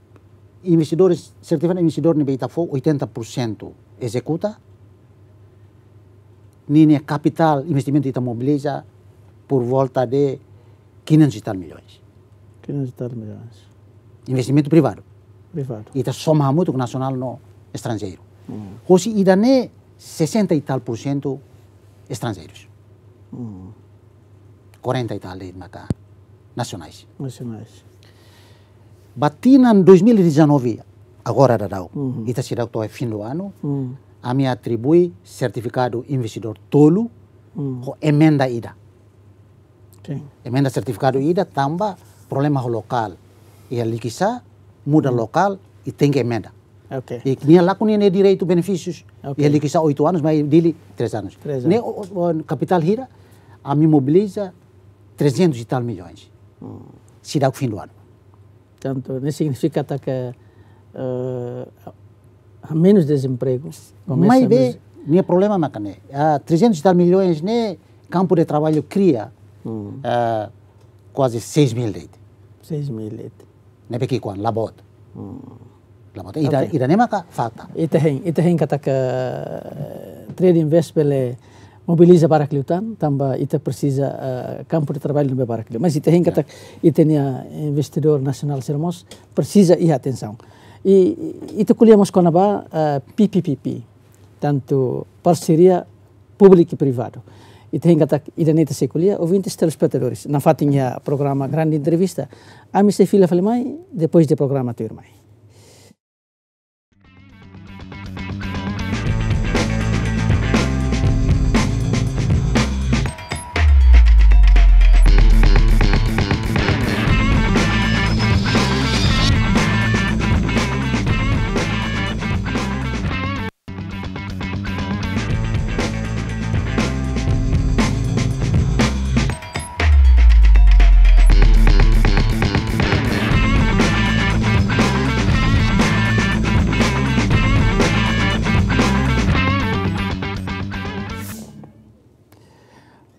investidores, sertifikadu investidór ne'ebé ita fó, oitenta por cento ezekuta, ninia kapitál investimentu ita mobiliza por volta de quinhentos e tal milhões. Quinhentos e tal milhões. Investimentu privadu. Privadu. Ita soma hamutuk nasionál no estranjeiru. Hmm. Hosi ida-ne'e sessenta e tal por cento estranjeirus. Hmm. Quarenta e tal de'it maka nasionais. Nasionais. Ba tinan dois mil e dezanove, agora daudaun, Mhm. ita seidauk to'o fim do ano, Mhm. ami atribui sertifikadu investidór tolu, Mhm. ho emenda ida. Sin. Emenda sertifikadu ida tanba problema ho lokál. Iha Likisá, muda Mhm. lokál, i tenke emenda. Ok. I nia lakon nia direitu benefísius. Ok. Iha Likisá oito anos, mai Dili três anos. Três anos. Ne'e o, o, o, kapitál hira, ami mobiliza trezentos e tal milhões. Hmm. Seidauk fim do ano. Portantu, ne'e signifika katak, eh, menus dezempregu. Komesa Maibé, menus nia problema maka ne'e. Ah, trezentos e tal milhões ne'e kampu de traballu kria. Hmm. Ah, kuaze seis mil de'it. Seis mil de'it. Ne'ebé ki'ikoan la boot. Hmm. La boot. Ida, oke, ida-ne'e maka fakta. Ita hein, ita hein katak, eh, Trade Invest bele mobiliza barak liután, tanba ita presiza, eh, kampu de traballu ne'ebé barak liu. Mas ita hein, ya, katak ita-nia investidór nasionál sira mós presiza iha atensaun. I, i ita ko'alia mós kona-ba, eh, P P P P, tantu parseria públiku i privadu. Ita hein katak ida-ne'e ita sei ko'alia, ouvintes telespetadores, nafatin iha programa Grande Entrevista. Ami sei fila fali mai, depois de programa tuirmai.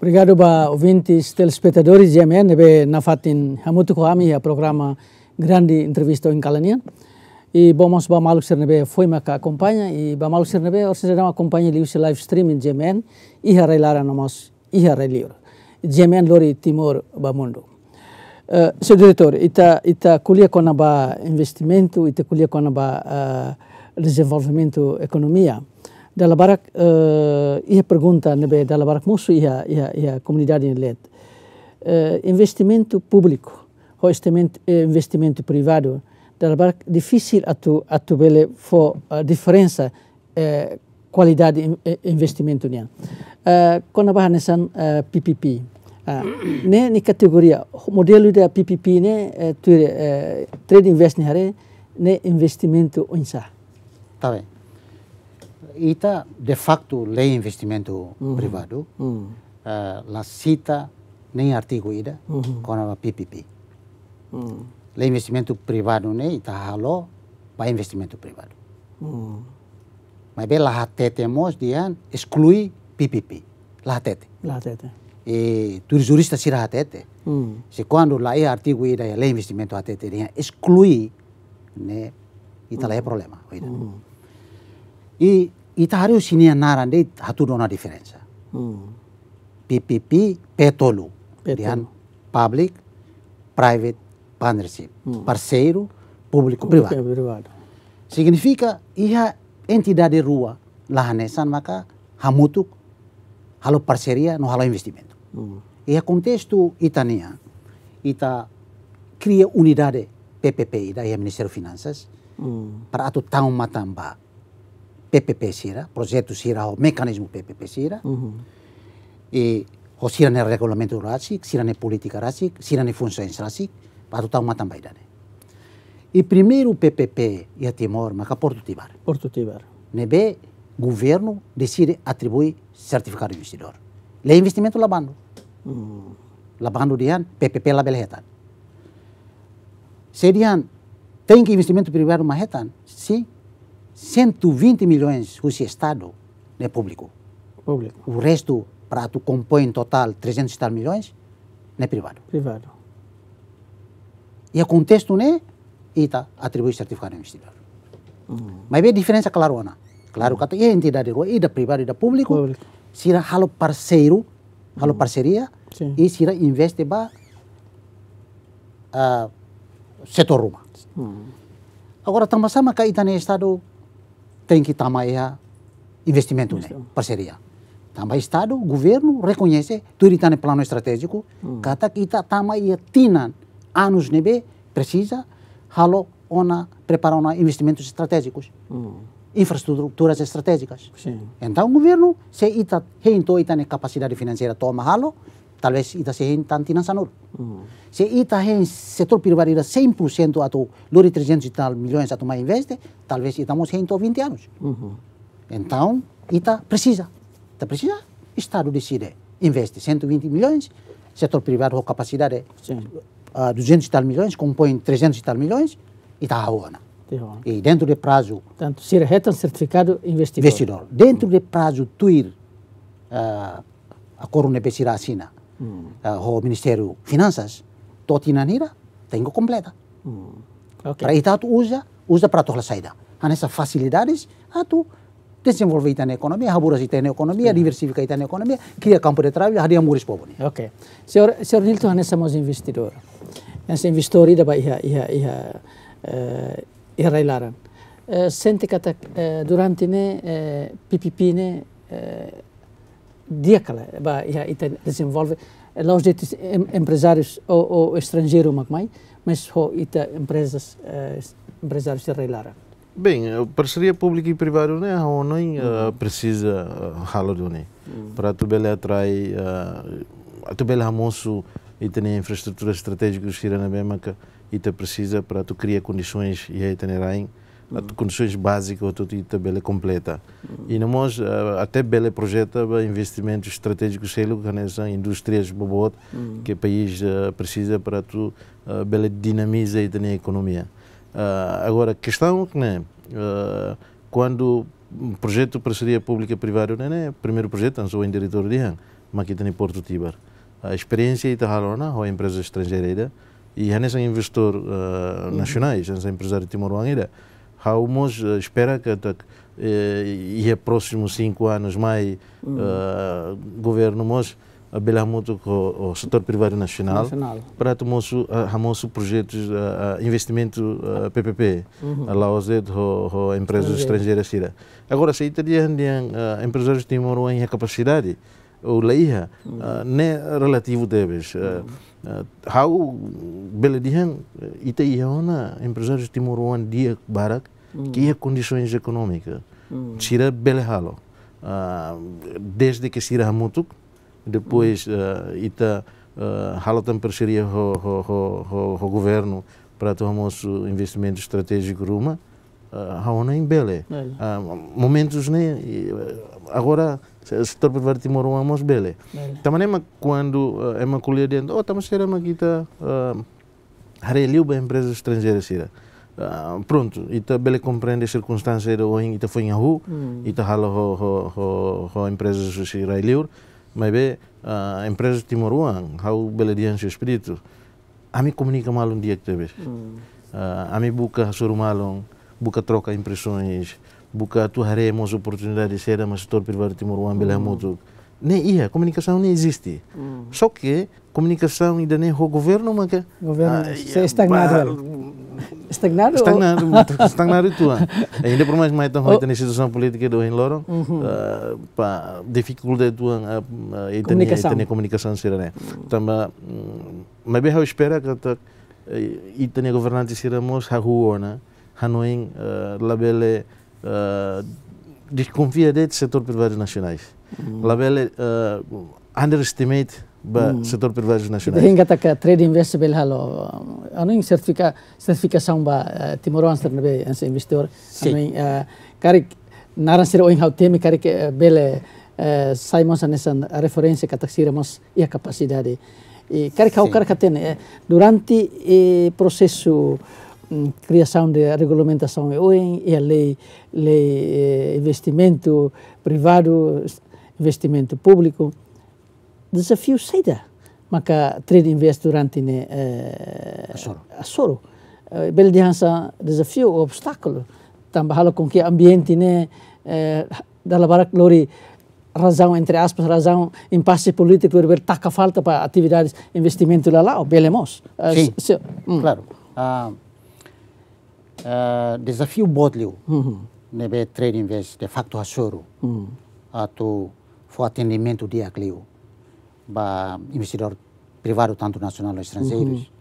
Obrigadu ba ouvintes telespetadores G M N ne'ebé nafatin hamutuk ho ami iha programa Grande Entrevista ohin kalan nian. I boot mós ba maluk sira ne'ebé foin maka akompaña, i ba maluk sira ne'ebé orsida akompaña liuhusi live streaming G M N iha rai-laran no mós iha rai-liur. G M N lori Timor ba mundu. Eh, señór diretór, ita, ita ko'alia kona-ba investimentu, ita ko'alia kona-ba, eh, dezenvolvimentu ekonomia. Dala barak, eh, iha pergunta ne'ebé dala barak mosu iha, iha, iha komunidade nia leet. Eh, investimentu públiku ho estemen-, eh, investimentu privadu, dala barak difisil atu, atu bele fó, eh, diferensa, eh, kualidade in-, eh, investimentu nian. Eh, kona-ba hanesan, eh, P P P. Ah, ne'e nia kategoria, modelu ida P P P ne'e, eh, tuir, eh, Trade Invest nia haree, ne'e investimentu oinsá? Tá bem. Ita, de facto, lei investimentu, uhum, privadu, uhum, eh, la sita nein artigu ida, uhum, kona-ba P P P. Uhum. Lei investimentu privadu ne'e ita halo ba investimentu privadu. Uhum. Maibé la hatete mós dehan esklui P P P. La hatete. La hatete. I tuir jurista sira hatete. Uhum. Se kuandu laiha artigu ida iha lei investimentu hatete dehan esklui, ne'e ita la iha, uhum, problema ho ida. Uhum. I ita haree husi nia naran de'it hatudu ona diferensa. Uhum. P P P, P tolu. P tolu. Dehan public private partnership. Uhum. Parseiru públiku privadu. Públiku privadu. Signifika iha entidade rua la hanesan maka hamutuk halo parseria no halo investimentu. Uhum. Iha kontestu ita-nian, ita kria unidade P P P ida iha Ministériu Finansas, uhum, para atu tau matan ba P P P sira, projetu sira ho mekanizmu P P P sira. Uhum. I ho sira-nia regulamentu rasik, sira-nia polítika rasik, sira-nia funsoens rasik, para atu tau matan ba ida-ne'e. I primeiru P P P iha Timor maka Portu Tibar. Portu Tibar. Ne'ebé governu deside atribui sertifikadu investidór. Lei investimentu la bandu. Uhum. La bandu dehan P P P labele hetan. Se dehan tenke investimentu privadu mak hetan, sin, cento e vinte milhões husi Estadu ne'e públiku. Públiku. O restu, para atu kompoin totál trezentos e tal milhões, ne'e privadu. Privadu. Iha kontestu ne'e, ita atribui sertifikadu investidór. Uhum. Maibé diferensa klaru ona. Klaru, uhum, katak iha entidade rua, ida privadu, ida públiku, públiku, sira halo parseiru, halo, uhum, parseria, sin, i sira investe ba, ah, setór ruma. Uhum. Agora, tanbasá maka ita-nia Estadu tenke tama iha investimentu ne'e, investimentu, parseria? Tanba Estadu, governu rekoñese, tuir ita-nia planu estratéjiku, uhum, katak ita tama iha tinan, anus ne'ebé presiza halo ona, prepara ona investimentus estratéjikus. Uhum. Infraestruturas estratéjikas. Sin. Entaun, governu, se ita hein to'o ita-nia kapasidade finanseira to'o mak halo, talvés ita sei hein tan tinan sanulu. Uhum. Se ita hein setór privadu ida cem por cento atu lori trezentos e tal milhões atu mai investe, talvés ita mós hein to'o vinte anus. Uhum. Entaun, ita presiza. Ita presiza, Estadu deside investe cento e vinte milhões, setór privadu ho kapasidade, sin, ah, duzentos e tal milhões, kompoin trezentos e tal milhões, ita hahú ona. Sin. I dentro de prazu, tantu sira hetan sertifikadu investidór, investidór. Dentro de prazu tuir, ah, akordu ne'ebé sira asina, hmm, ah, ho Ministériu Finansas, to'o tinan hira, tenke kompleta. Hmm. Oke. Para ita atu uza, uza para atu halo saida. Hanesan fasilidades, atu dezenvolve ita-nia ekonomia, haburas ita-nia ekonomia, diversifika ita-nia ekonomia, kria kampu de traballu, hadi'a moris povu nian. Oke. Señór, señór Nilton hanesan mós investidór. Hanesan investidór ida ba iha, iha, iha, eh, iha rai-laran. Eh, sente katak, eh, durante ne'e, eh, P P P ne'e, eh, di'ak ka lae, ba iha ita dezenvolve, eh, la'ós de'it em-, emprezárius ou, ou estranjeiru mak mai, mas ho ita emprezas, eh, emprezárius iha rai-laran. Bem, eh, parseria públiku i privadu ne'e, ha'u hanoin, eh, presiza, eh, halo duni. Para atu bele atrai, eh, atu bele hamosu ita-nia infraestrutura estratéjiku sira ne'ebé maka ita presiza para atu kria kondisoens iha ita-nia rain, atu kondisoens bázikas atu ita bele kompleta. I no mós, eh, até bele projeta ba investimentu estratéjiku seluk hanesan indústrias boboot ke país, eh, presiza para atu, eh, bele dinamiza ita-nia ekonomia. Ah, agora, kestaun ne'e, eh, kuandu projetu parseria públiku privadu ne'e, ne'e primeiru projetu, hanesan ohin diretór dehan, mak ita-nia Portu Tibar. Ah, esperiénsia ita halo ona ho empreza estranjeira ida, i hanesan investidór, eh, nasionais, hanesan emprezáriu timoroan ida. Ha'u mós, eh, espera katak, eh, iha prósimu sinku anus mai, eh, governu mós, eh, bele hamutuk ho, ho setór privadu nasionál, para atu mosu, eh, hamosu projetus, eh, eh, investimentu, eh, P P P, eh, la'ós de'it ho, ho empreza estranjeira sira. Agora, se ita dehan, dehan, eh, emprezáriu timoroan iha kapasidade, ou la iha, eh, ne'e relativu tebes. Eh, eh, ha'u bele dehan, eh, ita iha ona emprezáriu timoroan di'ak barak, ke iha kondisoens ekonómika. Sira bele halo. Ah, desde ke sira hamutuk, depois, eh, ita, eh, halo tan parseria ho, ho, ho, ho, ho governu para atu hamosu investimentu estratéjiku ruma, eh, ha'u hanoin bele. Bele. Ah, momentus ne'e, eh, agora, se-, setór privadu timoroan mós bele. Bele. Tanba ne'e mak kuandu, eh, ema ko'alia dehan, oh, tanba saida mak ita, eh, haree liu ba empreza estranjeira sira. Ah, prontu, ita bele komprende sirkunstánsia ida ohin ita foin hahú, ita halo ho, ho, ho, ho empreza husi rai-liur, maibé, ah, empreza timoroan, ha'u bele dehan seus espíritu. Ami komunika malu di'ak tebes. Ah, ami buka hasoru malu, buka troka impresoens, buka atu haree mós oportunidade saida mak setór privadu timoroan bele hamutuk. Ne'e iha, komunikasaun ne'e eziste. Só ke komunikasaun ida-ne'e ho governu maka, governu ah, sei ya, estagnadu ba-, hela. Estagnadu ou? Estagnadu, estagnadu uitoan. Ainda por mais, mais tão Oh. Hoje tem situasaun polítika ida ohin loron, ah, pa difikulta uitoan, ah, ah, ita-nia, komunikasaun. Ita-nia komunikasaun sira-ne'e. Tanba, mm, maibé ha'u espera katak, eh, ita-nia governante sira mós hahú ona, hanoin, eh, labele, eh, deskonfia de'it setór privadu nasionais. Labele, eh, underestimate ba setór privadu nasionais. Ita hein katak Trade Invest bele halo, anu, sertifika-, sertifikasaun ba, eh, timoroan sira ne'ebé hanesan investidór. Sin. Anu, eh, karik naran sira ohin ha'u temi karik, eh, bele, eh, sai mós hanesan referénsia katak sira mós iha kapasidade. I karik ha'u karik hatene, eh, durante, eh, prosesu, mm, kriasaun de regulamentasaun ohin, iha lei, lei, eh, investimentu privadu, investimentu públiku, dezafiu saida maka Trade Invest durante ne'e, eh, hasoru. Hasoru. Eh, bele dehan hanesan dezafiu, obstákulu. Tanba halo com que ambiente ne'e, eh, dala barak lori razaun, entre aspas, razaun impase polítiku, bele taka falta ba atividades investimentu lala'ok, bele mós. Eh, sin, se-, se-, mm. Klaru. Ah, eh, dezafiu boot liu, ne'ebé Trade Invest de facto hasoru atu fó atendimentu di'ak liu ba investidór privadu, tantu nasionál ou estranjeirus.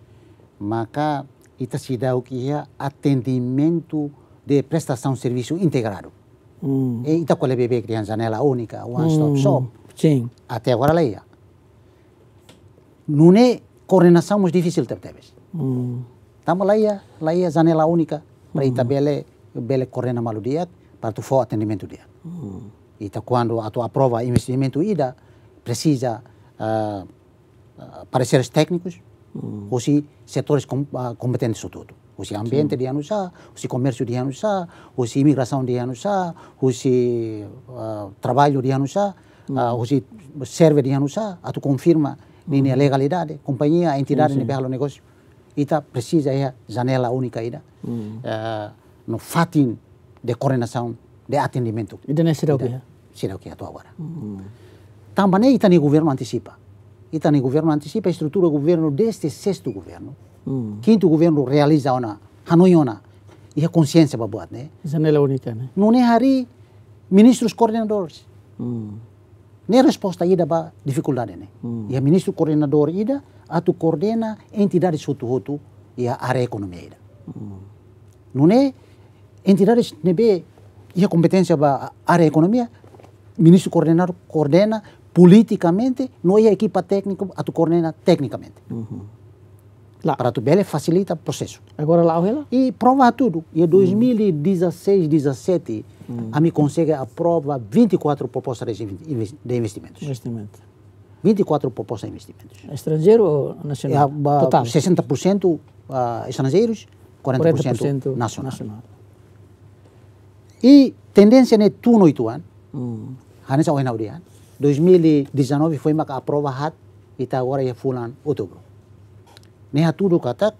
Maka ita seidauk iha atendimentu de prestasaun servisu integradu. E ita ko'alia beibeik dehan janela únika, one stop shop. Sin. Até agora la iha. Nune'e koordenasaun mós difisil tebetebes. Tanba la iha, la iha janela únika para ita bele, bele koordena malu di'ak, para atu fó atendimentu di'ak. Ita kuandu atu aprova investimentu ida, presiza, ah, ah, pareceres téknikus, husi setores kom-, ah, kompetentes hotu-hotu. Husi ambiente dehan oinsá, husi komérsiu dehan oinsá, husi imigrasaun dehan oinsá, husi, ah, traballu dehan oinsá, ah, husi SERVE dehan oinsá, atu konfirma ninia legalidade, kompañia, entidade ne'ebé halo negósiu. Ita presiza iha janela únika ida. Eh, no fatin de koordenasaun de atendimentu. Ida-ne'e seidauk iha. Seidauk iha to'o agora. Tanba ne'e ita-nia governu antisipa. Ita-nia governu antisipa estrutura governu dezde sestu governu. Kintu governu realiza ona, hanoin ona, iha konsiénsia ba buat ne'e. Janela únika ne'e. Nune'e harii ministrus koordenadores. Ne'e resposta ida ba difikuldade ne'e. Iha ministru koordenadór ida atu koordena entidades hotu-hotu iha área ekonomia ida. Nune'e entidades ne'ebé iha kompeténsia ba área ekonomia, ministru koordenadór koordena politikamente, no iha ekipa tékniku atu koordena teknikamente. Lae. Para atu bele fasilita prosesu. Agora la'o hela? I prova hatudu, iha dois mil e dezasseis, dezassete, ami konsege aprova vinte e quatro propostas de inves-, de investimentos. Investimentu. Vinte e quatro propostas de investimentos. Estranjeiru ou nasionál? Totál. Sessenta por cento, ah, estrangeiros, quarenta por cento nacional. Quarenta por cento nasionál. I tendénsia ne'e tun oituan, hanesan ohin ha'u dehan, dois mil e dezanove foin maka aprova haat, ita agora iha fulan outubru. Ne'e hatudu katak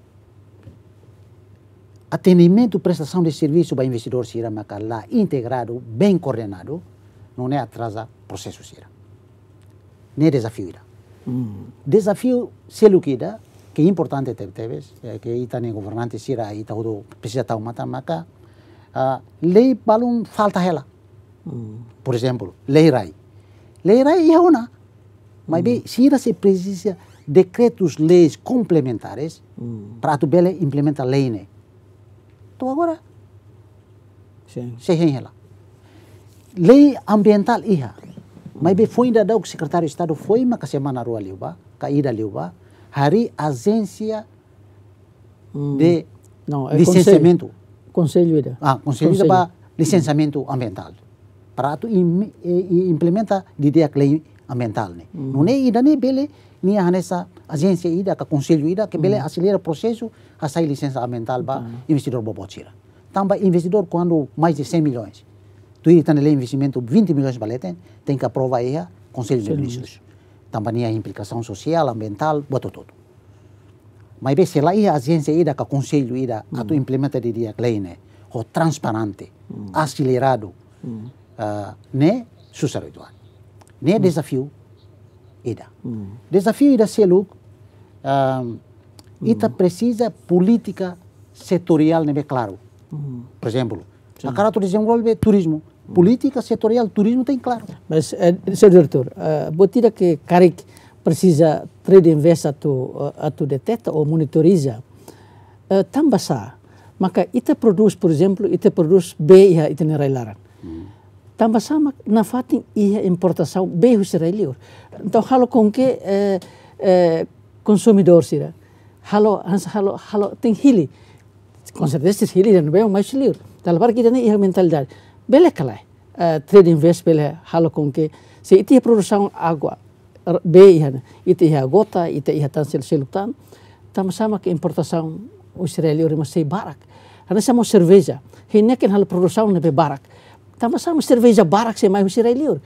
atendimentu prestasaun de servisu ba investidór sira maka la integradu, bem koordenadu, nune'e atraza prosesu sira. Ne'e dezafiu ida. Dezafiu seluk ida ke importante tebetebes, eh, ke ita-nia governante sira, ita hotu presiza tau matan maka, ah, lei balun falta hela. Por ezemplu, lei-rai. Lei-rai iha ona. Maibé sira sei presiza dekretus, leis komplementares para atu bele implementa lei ne'e. To'o agora sei hein hela. Lei ambientál iha. Maibé foin daudauk Sekretáriu Estadu foin maka semana rua liubá, ka ida liubá, harii ajénsia de lisensiamentu. Konsellu ida. Ah, konsellu ida ba lisensiamentu ambientál. Para atu im-, eh, i-, implementa didi'ak lei ambientál ne'e. Nune'e ida-ne'e bele nia hanesan ajénsia ida ka konsellu ida ke bele aselera prosesu hasai lisensa ambientál ba investidór boboot sira. Tanba investidór kuandu mais de cem milhões, tuir ita-nia lei investimentu vinte milhões ba leten, tenke aprova iha Konsellu de Ministrus. Tanba nia implikasaun sosiál, ambientál, buat hotu-hotu. Maibé se la iha ajénsia ida ka konsellu ida atu implementa didi'ak lei ne'e ho transparente, aseleradu, ah, ne'e susar uitoan. Ne'e dezafiu ida. Dezafiu ida seluk, ah, ita presiza polítika setoriál ne'ebé klaru. Por ezemplu, hakarak atu dezenvolve turizmu, polítika setoriál turizmu tenke klaru. Mas, eh, señór Diretór, eh, buat ida ke karik presiza Trade Invest atu, eh, atu deteta ou monitoriza, eh, tanba sá maka ita prodús, por ezemplu, ita prodús bee iha ita-nia rai-laran. Tanba sá mak nafatin iha importasaun bee husi rai-liur. Entaun halo com que, eh, eh, konsumidór sira halo, hanesan halo, halo tenke hili. Com certeza sei hili dehan bee mai husi liur. Dala barak ida-ne'e iha mentalidade. Bele ka lae, eh, Trade Invest bele halo com que se ita iha produsaun água, r-, bee iha ne'e, ita iha gota, ita iha tan sel-, seluk tan, tanba sá mak importasaun husi rai-liur mak sei barak. Hanesan mós serveja, hein ne'e ke halo produsaun ne'ebé barak. Tanba sá mak serveja barak sei mai husi rai-liur.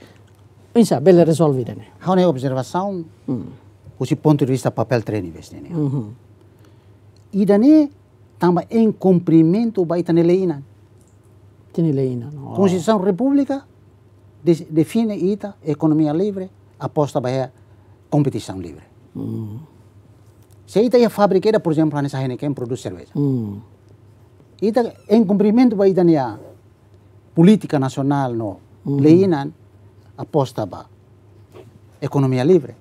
Oinsá bele rezolve ida-ne'e? Ha'u-nia observasaun, husi pontu de vista papél Trade Invest nian. Ida-ne'e tanba inkumprimentu ba ita-nia lei inan. Ita-nia lei inan. Oh. Konstituisaun Repúblika de-, define ita ekonomia livre, aposta ba iha kompetisaun livre. Se ita iha fábrika ida, por ezemplu, hanesan Heineken prodús serveja. Ita inkumprimentu ba ita-nia polítika nasionál no lei inan aposta ba ekonomia livre.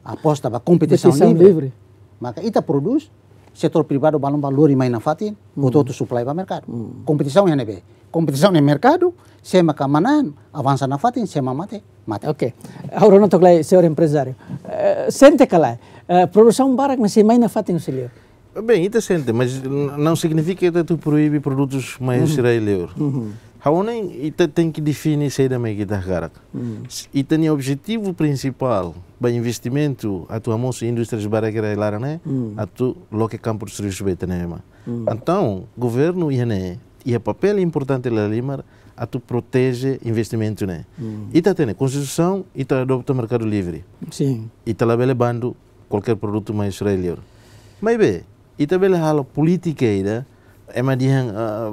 Aposta ba kompetisaun livre. Maka ita prodús, setór privadu balun ba lori mai nafatin, hotu-hotu supply ba merkadu. Kompetisaun iha ne'ebé? Kompetisaun iha merkadu, sé maka manán, avansa nafatin, sé mak mate, mate. Oke. Ha'u rona took lai, señór emprezáriu. Eh, sente ka lae, eh, produsaun barak mak sei mai nafatin husi liur? Bem, ita sente, mas n-, não significa ita atu proíbe produtus mai husi rai-liur. Ha'u hanoin ita tenke define saida mak ita hakarak. S-, ita-nia objetivu prinsipál ba investimentu atu hamosu indústrias barak iha rai-laran ne'e, atu loke kampu servisu ba ita-nia ema. Entaun, governu iha ne'e, iha papél importante lahalimar atu proteje investimentu ne'e. Ita hatene, Konstituisaun, ita adopta merkadu livre. Sin. Ita labele bandu kualkér produtu mai husi rai-liur. Maibé, ita bele halo polítika ida, ema dehan, ah,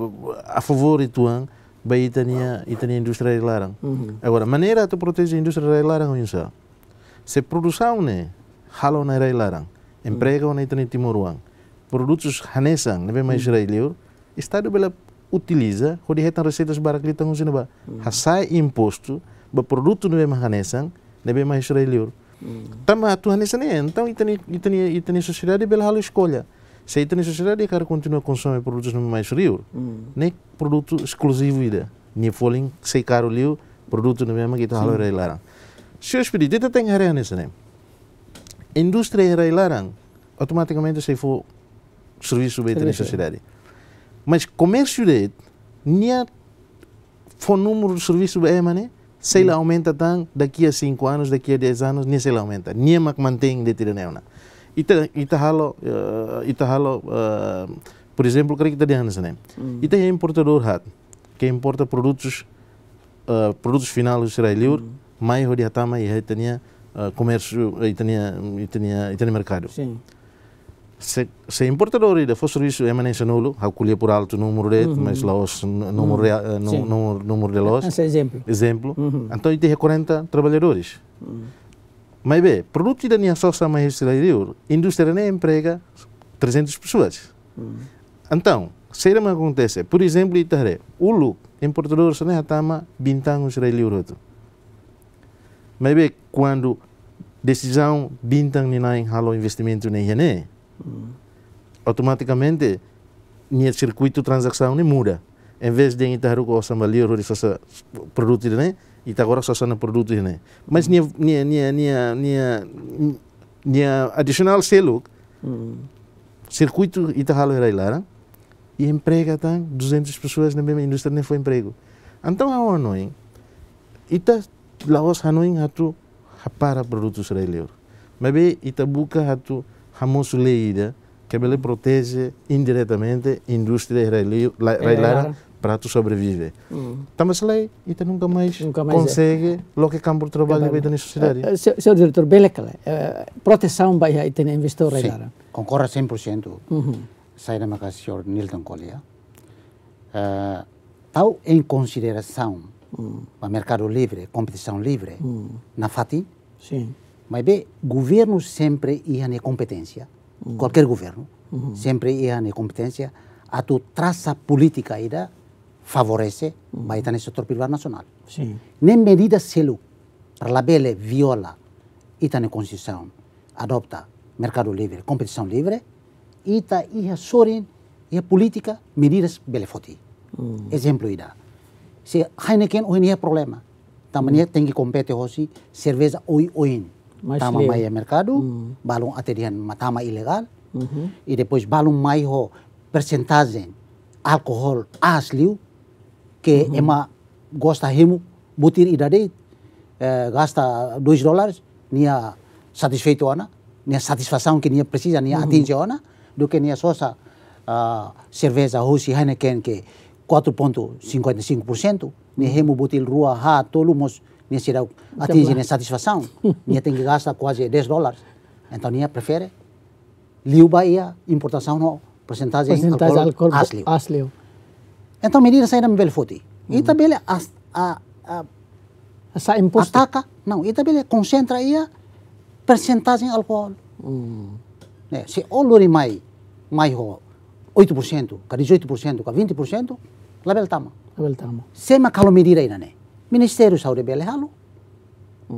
a favór uitoan ba ita-nia, ita-nia indústria rai-laran. Agora, maneira atu proteje indústria rai-laran oinsá? Se produsaun ne'e halo ona iha rai-laran, emprega ona ita-nia timoroan, produtus hanesan ne'ebé mai husi rai-liur, Estadu bele utiliza hodi hetan reseitas barak liután husi ne'ebá. Hasa'e impostu ba produtu ne'ebé mak hanesan, ne'ebé mai husi rai-liur. Tanba atu hanesan ne'e, entaun ita-nia, ita-nia, ita-nia sosiedade bele halo eskolla. Se ita-nia sosiedade hakarak kontinua konsome produtus ne'ebé mai husi rai-liur, ne'e produtu eskluzivu ida. Nia folin sei karu liu produtu ne'ebé mak ita halo iha rai-laran. Señór Expedito, ita tenke haree hanesan ne'e. Indústria iha rai-laran automatikamente sei fó servisu ba ita-nia sosiedade. Mas komérsiu de'it, nia fó númeru servisu ba ema ne'e, sei la aumenta tan, daqui a cinco anos, daqui a dez anos, nia sei la aumenta. Nia mak mantein de'it ida-ne'e ona. Ita, ita halo, eh, ita halo, eh, por ezemplu, karik ita dehan hanesan ne'e. Ita iha importadór haat, ke importa produtus, eh, produtus finál husi rai-liur, mai hodi hatama iha ita-nia, eh, komérsiu, eh, ita-nia, ita-nia, ita-nia merkadu. Sin. Se, se importadór ida fó servisu ema na'in sanulu, ha'u ko'alia por altu númeru de'it, mas la'ós n-, númeru rea-, eh, nu-, númeru, númeru de loos. Hanesan ezemplu. Ezemplu. Entaun, ita iha quarenta trabalhadores. Maibé, produtu ida nia sosa mai husi rai-liur, indústria ne'e emprega trezentas pessoas. Entaun, saida mak akontese? Por ezemplu, ita haree, uluk, importadór sira ne'e hatama bintang husi rai-liur hotu. Maibé, kuandu desizaun bintang nia na'in halo investimentu ne'e iha ne'e, automatikamente nia sirkuitu tranzasaun ne'e muda. Envezde ita haruka osan ba liur hodi sosa produtu ida-ne'e, ita agora sosa ona produtu ida-ne'e. Mas nia, nia, nia, nia, nia, nia adisionál seluk, sirkuitu ita halo iha rai-laran, i emprega tan duzentas pessoas ne'ebé mak indústria ne'e fó empregu. Entaun, ha'u hanoin, ita la'ós hanoin atu hapara produtus rai-liur. Maibé ita buka atu hamosu lei ida ke bele proteje indiretamente indústria rai-liu-, la-, rai-laran para atu sobrevive. Tanba se lae, ita nunka mais konsege loke kampu traballu ba ita-nia sosiedade. Eh, eh, se-, señór diretór, bele ka lae, eh, protesaun ba iha ita-nia investidór rai-laran. Konkorda cem por cento. Saida maka señór Nilton ko'alia. Eh, tau em konsiderasaun ba merkadu livre, kompetisaun livre, nafatin. Sin. Maibé governu sempre iha nia kompeténsia, kualkér governu, sempre iha nia kompeténsia atu trasa polítika ida favorese ba ita-nia setór privadu nasionál. Sin. Ne'e medida seluk para labele viola ita-nia Konstituisaun, adopta merkadu livre, kompetisaun livre, ita iha sorin, iha polítika, medidas bele foti. Ezemplu ida. Se Heineken ohin iha problema, tanba nia tenke kompete hosi serveja oioin. Tama mai iha merkadu, balun até dehan mak tama ilegál, i depois balun mai ho persentajen alkohol aas liu, ke ema gosta hemu butil ida de'it, eh, gasta dois dólares, nia satisfeitu ona, nia satisfasaun ke nia presiza, nia atinje ona, duké nia sosa, ah, serveja hosi Heineken ke quatro ponto cinquenta e cinco por cento, nia hemu butil rua, haat, tolu mós, nia seidauk atinje nia satisfasaun, nia tenke gasta kuaze dez dólares. Entaun, nia prefere liu ba iha importasaun ho persentajen alkohol aas liu. Entaun, medida saida mak bele foti? Ita bele as-, a, a, ataka, não, ita bele konsentra iha persentajen alkohol. Ne'e, se ó lori mai, mai ho oito por cento, ka dezoito por cento, ka vinte por cento, labele tama. Labele tama. Sé mak halo medida ida-ne'e? Ministériu Saúde bele halo,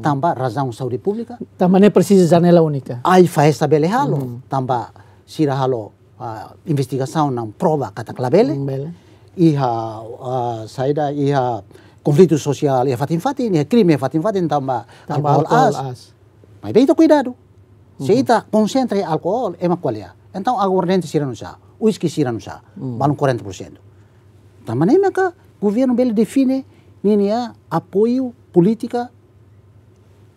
tanba razaun saúde públika. Tanba ne'e presiza janela únika. AIFAESA bele halo, tanba sira halo, ah, investigasaun no prova katak labele. Iha, ah, saida, iha konflitu sosiál iha fatin-fatin, iha krime fatin-fatin tanba alkohol aas. Maibé ita kuidadu. Se ita konsentra iha alkohol, ema ko'alia. Entaun, aguardiente sira nusá, uíski sira nusá, balun quarenta por cento. Tanba ne'e maka governu bele define ninia apoiu polítika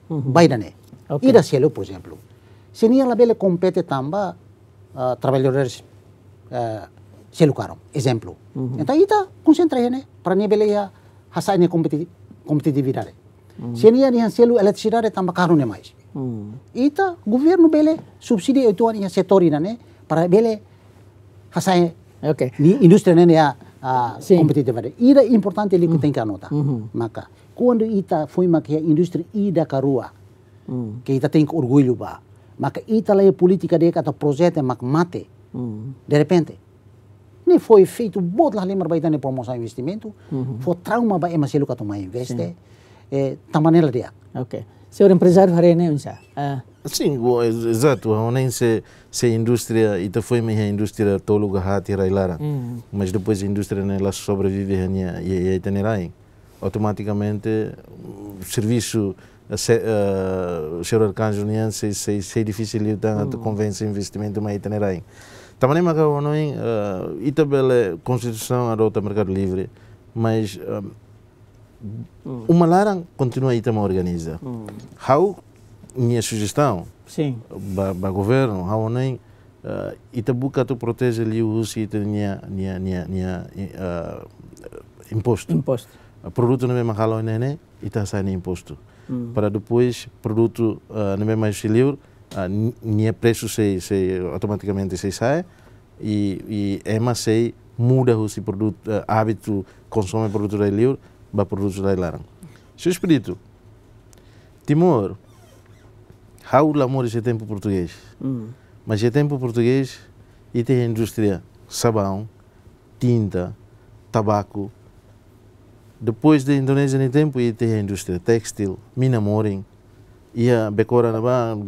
ba ida-ne'e. Ida seluk, por ezemplu, se nia labele kompete tanba, ah, traballadores, ah, seluk karun, ezemplu. Entaun, ita konsentra iha ne'e, para nia bele iha hasa'e nia kompeti-, kompetitividade. Se nia dehan selu eletrisidade tanba karu ne'e mais. Ita, governu bele subsidi uitoan iha setór ida-ne'e para bele hasa'e indústria ne'e nia kompetitividade. Ida importante liu ita tenke anota. Maka, kuandu ita foin mak iha indústria ida ka rua, ke ita tenke orgullu ba. Maka ita la iha polítika de'it atu projetu mak mate. De repente. Ne'e fó efeitu boot la halimar ba ita-nia promosaun investimentu, fó trauma ba ema seluk atu mai investe, eh, tanba ne'e la di'ak. Ok. Señór emprezáriu haree ne'e oinsá? Ah. Sin, o, ez-, ezatu, ha'u hanoin se, se indústria, ita foin mak iha indústria tolu ka haat iha rai-laran. Mas depois indústria ne'e la sobrevive iha nia, iha, iha ita-nia rain. Automatikamente, mm, servisu, eh, se, eh, señór Arcanjo nian sei, sei, sei difisil liután atu konvense investimentu mai ita-nia rain. Tanba ne'e maka ha'u hanoin, eh, ita bele konstituisaun adota merkadu livre, mas, eh, uma laran kontinua ita mak organiza. Ha'u-nia sujestaun ba, ba governu, ha'u hanoin, eh, ita buka atu proteje liu husi ita-nia, nia, nia, nia, eh, impostu. Impostu. Produtu ne'ebé mak halo ne'e, ita hasa'e nia impostu. Para depois produtu, eh, ne'ebé mai husi liur, eh, n-, nia presu sei, sei automatikamente sei sa'e, i, i ema sei muda husi produtu, eh, ábitu konsume produtu rai liur ba produtu rai-laran. Señór Expedito, Timor, ha'u la moris iha tempu portugés. Mas iha tempu portugés, ita iha indústria sabaun, tinta, tabaku. Depois de Indonézia nia tempu, ita iha indústria tékstil, mina morin. Iha Becora ne'ebá,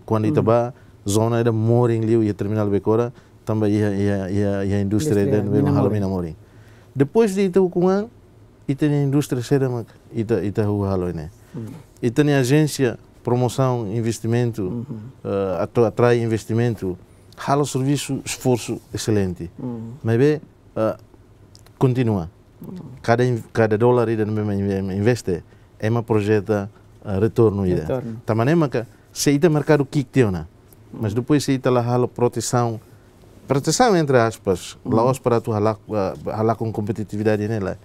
kuandu ita bá, zona ida morin liu iha terminál Becora, tanba iha, iha, iha, iha indústria ida ne'ebé halo mina morin. Depois de ita ukun an, ita-nia indústria saida mak ita, ita hahú halo ne'e. Ita-nia ajénsia promosaun investimentu, eh, atu atrai investimentu, halo servisu, esforsu eselente. Maibé, eh, kontinua. Kada in-, kada dolar ida ne'ebé ema in-, investe, ema projeta, eh, retornu ida. Retornu. Tanba ne'e maka, se ita merkadu ki'ik tiha ona, mas depois se ita la halo protesaun, protesaun entre aspas, la'ós para atu halak-, eh, halakon kompetitividade ne'e lae.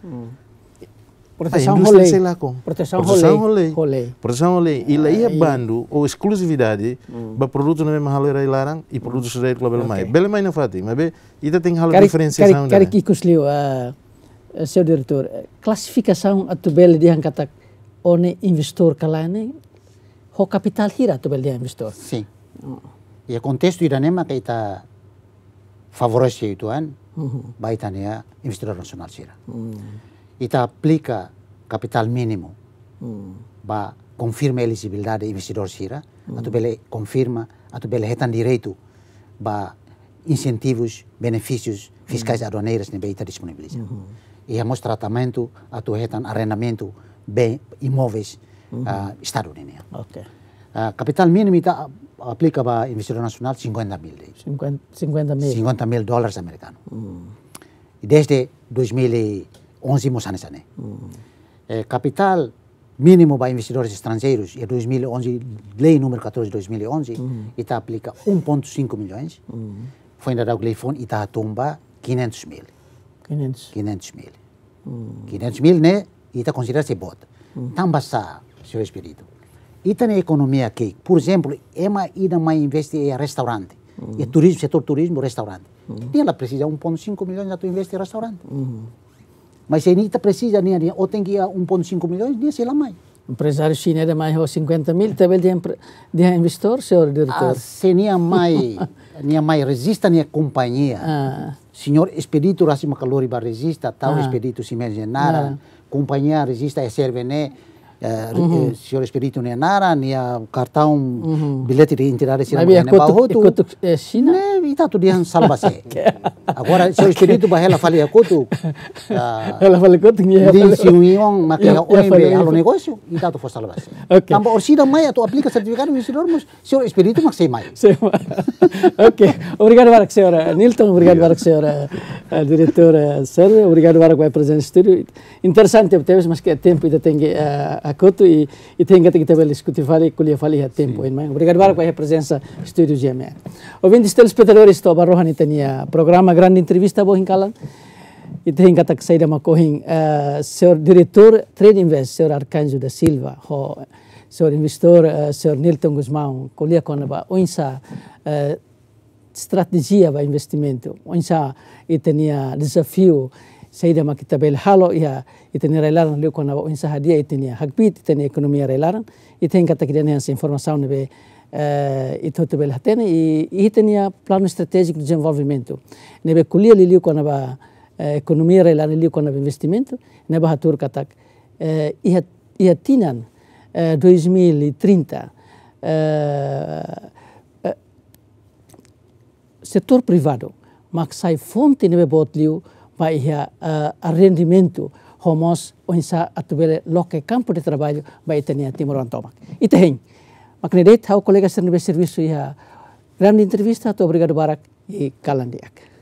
Protesaun ho lei. Indústria sei lakon. Protesaun ho lei. Protesaun ho lei. Ho lei. Protesaun ho lei. I la iha bandu ou eskluzividade ba produtu ne'ebé mak halo iha rai-laran i produtu sira ne'ebé labele mai. Bele mai nafatin, maibé ita tenke halo diferensiasaun. Karik, karik, karik ikus liu, eh, eh, señór diretór, eh, klasifikasaun atu bele dehan katak ó ne'e investór ka lae ne'e, ho kapitál hira atu bele dehan investór? Sin. Iha kontestu ida-ne'e maka ita favorese uitoan ba ita-nia investidór nasionál sira. Ita aplika kapitál mínimu ba konfirma elejibilidade investidór sira, atu bele konfirma, atu bele hetan direitu ba insentivus, benefísius fiskais aduaneiras ne'ebé ita disponibiliza. Iha mós tratamentu atu hetan arrendamentu bens imóveis, ah, Estadu nian. Ok. Ah, kapitál mínimu ita ap-, aplika ba investidór nasionál cinquenta mil de'it. Cinquenta, cinquenta mil. Cinquenta mil dólares amerikanu. I desde dois mil e onze mós hanesan ne'e. Eh, kapitál mínimu ba investidores estranjeirus, iha dois mil e onze, lei númeru catorze de dois mil e onze, ita aplika um ponto cinco milhões. Foin daudauk lei foun ita hatún ba quinhentos mil. Quinhentos. Quinhentos mil. Quinhentos mil ne'e, ita konsidera sei boot. Tanba sá, señór Expedito? Ita-nia ekonomia ki'ik, por ezemplu, ema ida mai investe iha restaurante. Iha turizmu, setór turizmu, restaurante. Nia la presiza um ponto cinco milhões atu investe iha restaurante. Mas se ita presiza nia, nia, ó tenke iha um ponto cinco milhões, nia sei la mai. Emprezáriu sira ne'e mai ho cinquenta mil, ita bele dehan empre-, dehan investór, señór diretór? Ah, se nia mai, nia mai rejista nia kompañia. Ah. Señór Expedito rasik maka lori ba rejista, tau Expedito Ximenes nia naran, kompañia rejista S R V ne'e, eh, eh, señór Expedito nia naran, nia kartaun, billete de identidade sira ne'e ba hotu. Maibé kotuk, eh, Xina? Ne'e, ita atu dehan salva sé. Agora, señór Expedito bá hela fali iha kotuk, ah, hela fali kotuk, nia Lin Xiuyon maka iha O M B halo negósiu, ita atu fó salva sé. Ok. Tanba orsida mai atu aplika sertifikadu investidór mós, señór Expedito mak sei mai. Sei mai. Ok. Obrigadu barak, señór Nilton. Obrigadu barak, señór, eh, diretór, eh, Sérgio. Obrigadu barak ba prezensa estúdiu. Interesante tebes, maske tempu ita tenke, eh, hakotu i, i tenke, tenke ita bele diskuti fali, ko'alia fali iha tempu. Sin. Obrigadu barak ba prezensa estúdiu G M N. Ouvintes telespetadores, to'o ba rohan ita-nia programa Grande Entrevista ba ohin kalan. Ita hein katak saida mak ohin, eh, señór diretór Trade Invest, señór Arcanjo da Silva, ho señór investór, eh, señór Nilton Gusmão, ko'alia kona-ba oinsá, eh, estratéjia ba investimentu, oinsá ita-nia dezafiu, saida mak ita bele halo iha ita-nia rai-laran, liu kona-ba oinsá hadi'a ita-nia hakbiit, ita-nia ekonomia rai-laran. Ita hein katak ida-ne'e hanesan informasaun ne'ebé, eh, ita hotu bele hatene, i, i ita-nia planu estratéjiku de dezenvolvimentu ne'ebé ko'alia liuliu kona-ba, eh, ekonomia rai-laran, liu kona-ba investimentu, ne'ebé hatuur katak, eh, iha, iha tinan, eh, dois mil e trinta, eh, eh, setór privadu mak sai fonte ne'ebé boot liu ba iha, eh, rendimentu, ho mós oinsá atu bele loke kampu de traballu ba ita-nia timoroan tomak. Ita hein. Mak ne'e de'it, ha'u kolega sira ne'ebé servisu iha Grande Entrevista, atu obrigadu barak i kalan di'ak.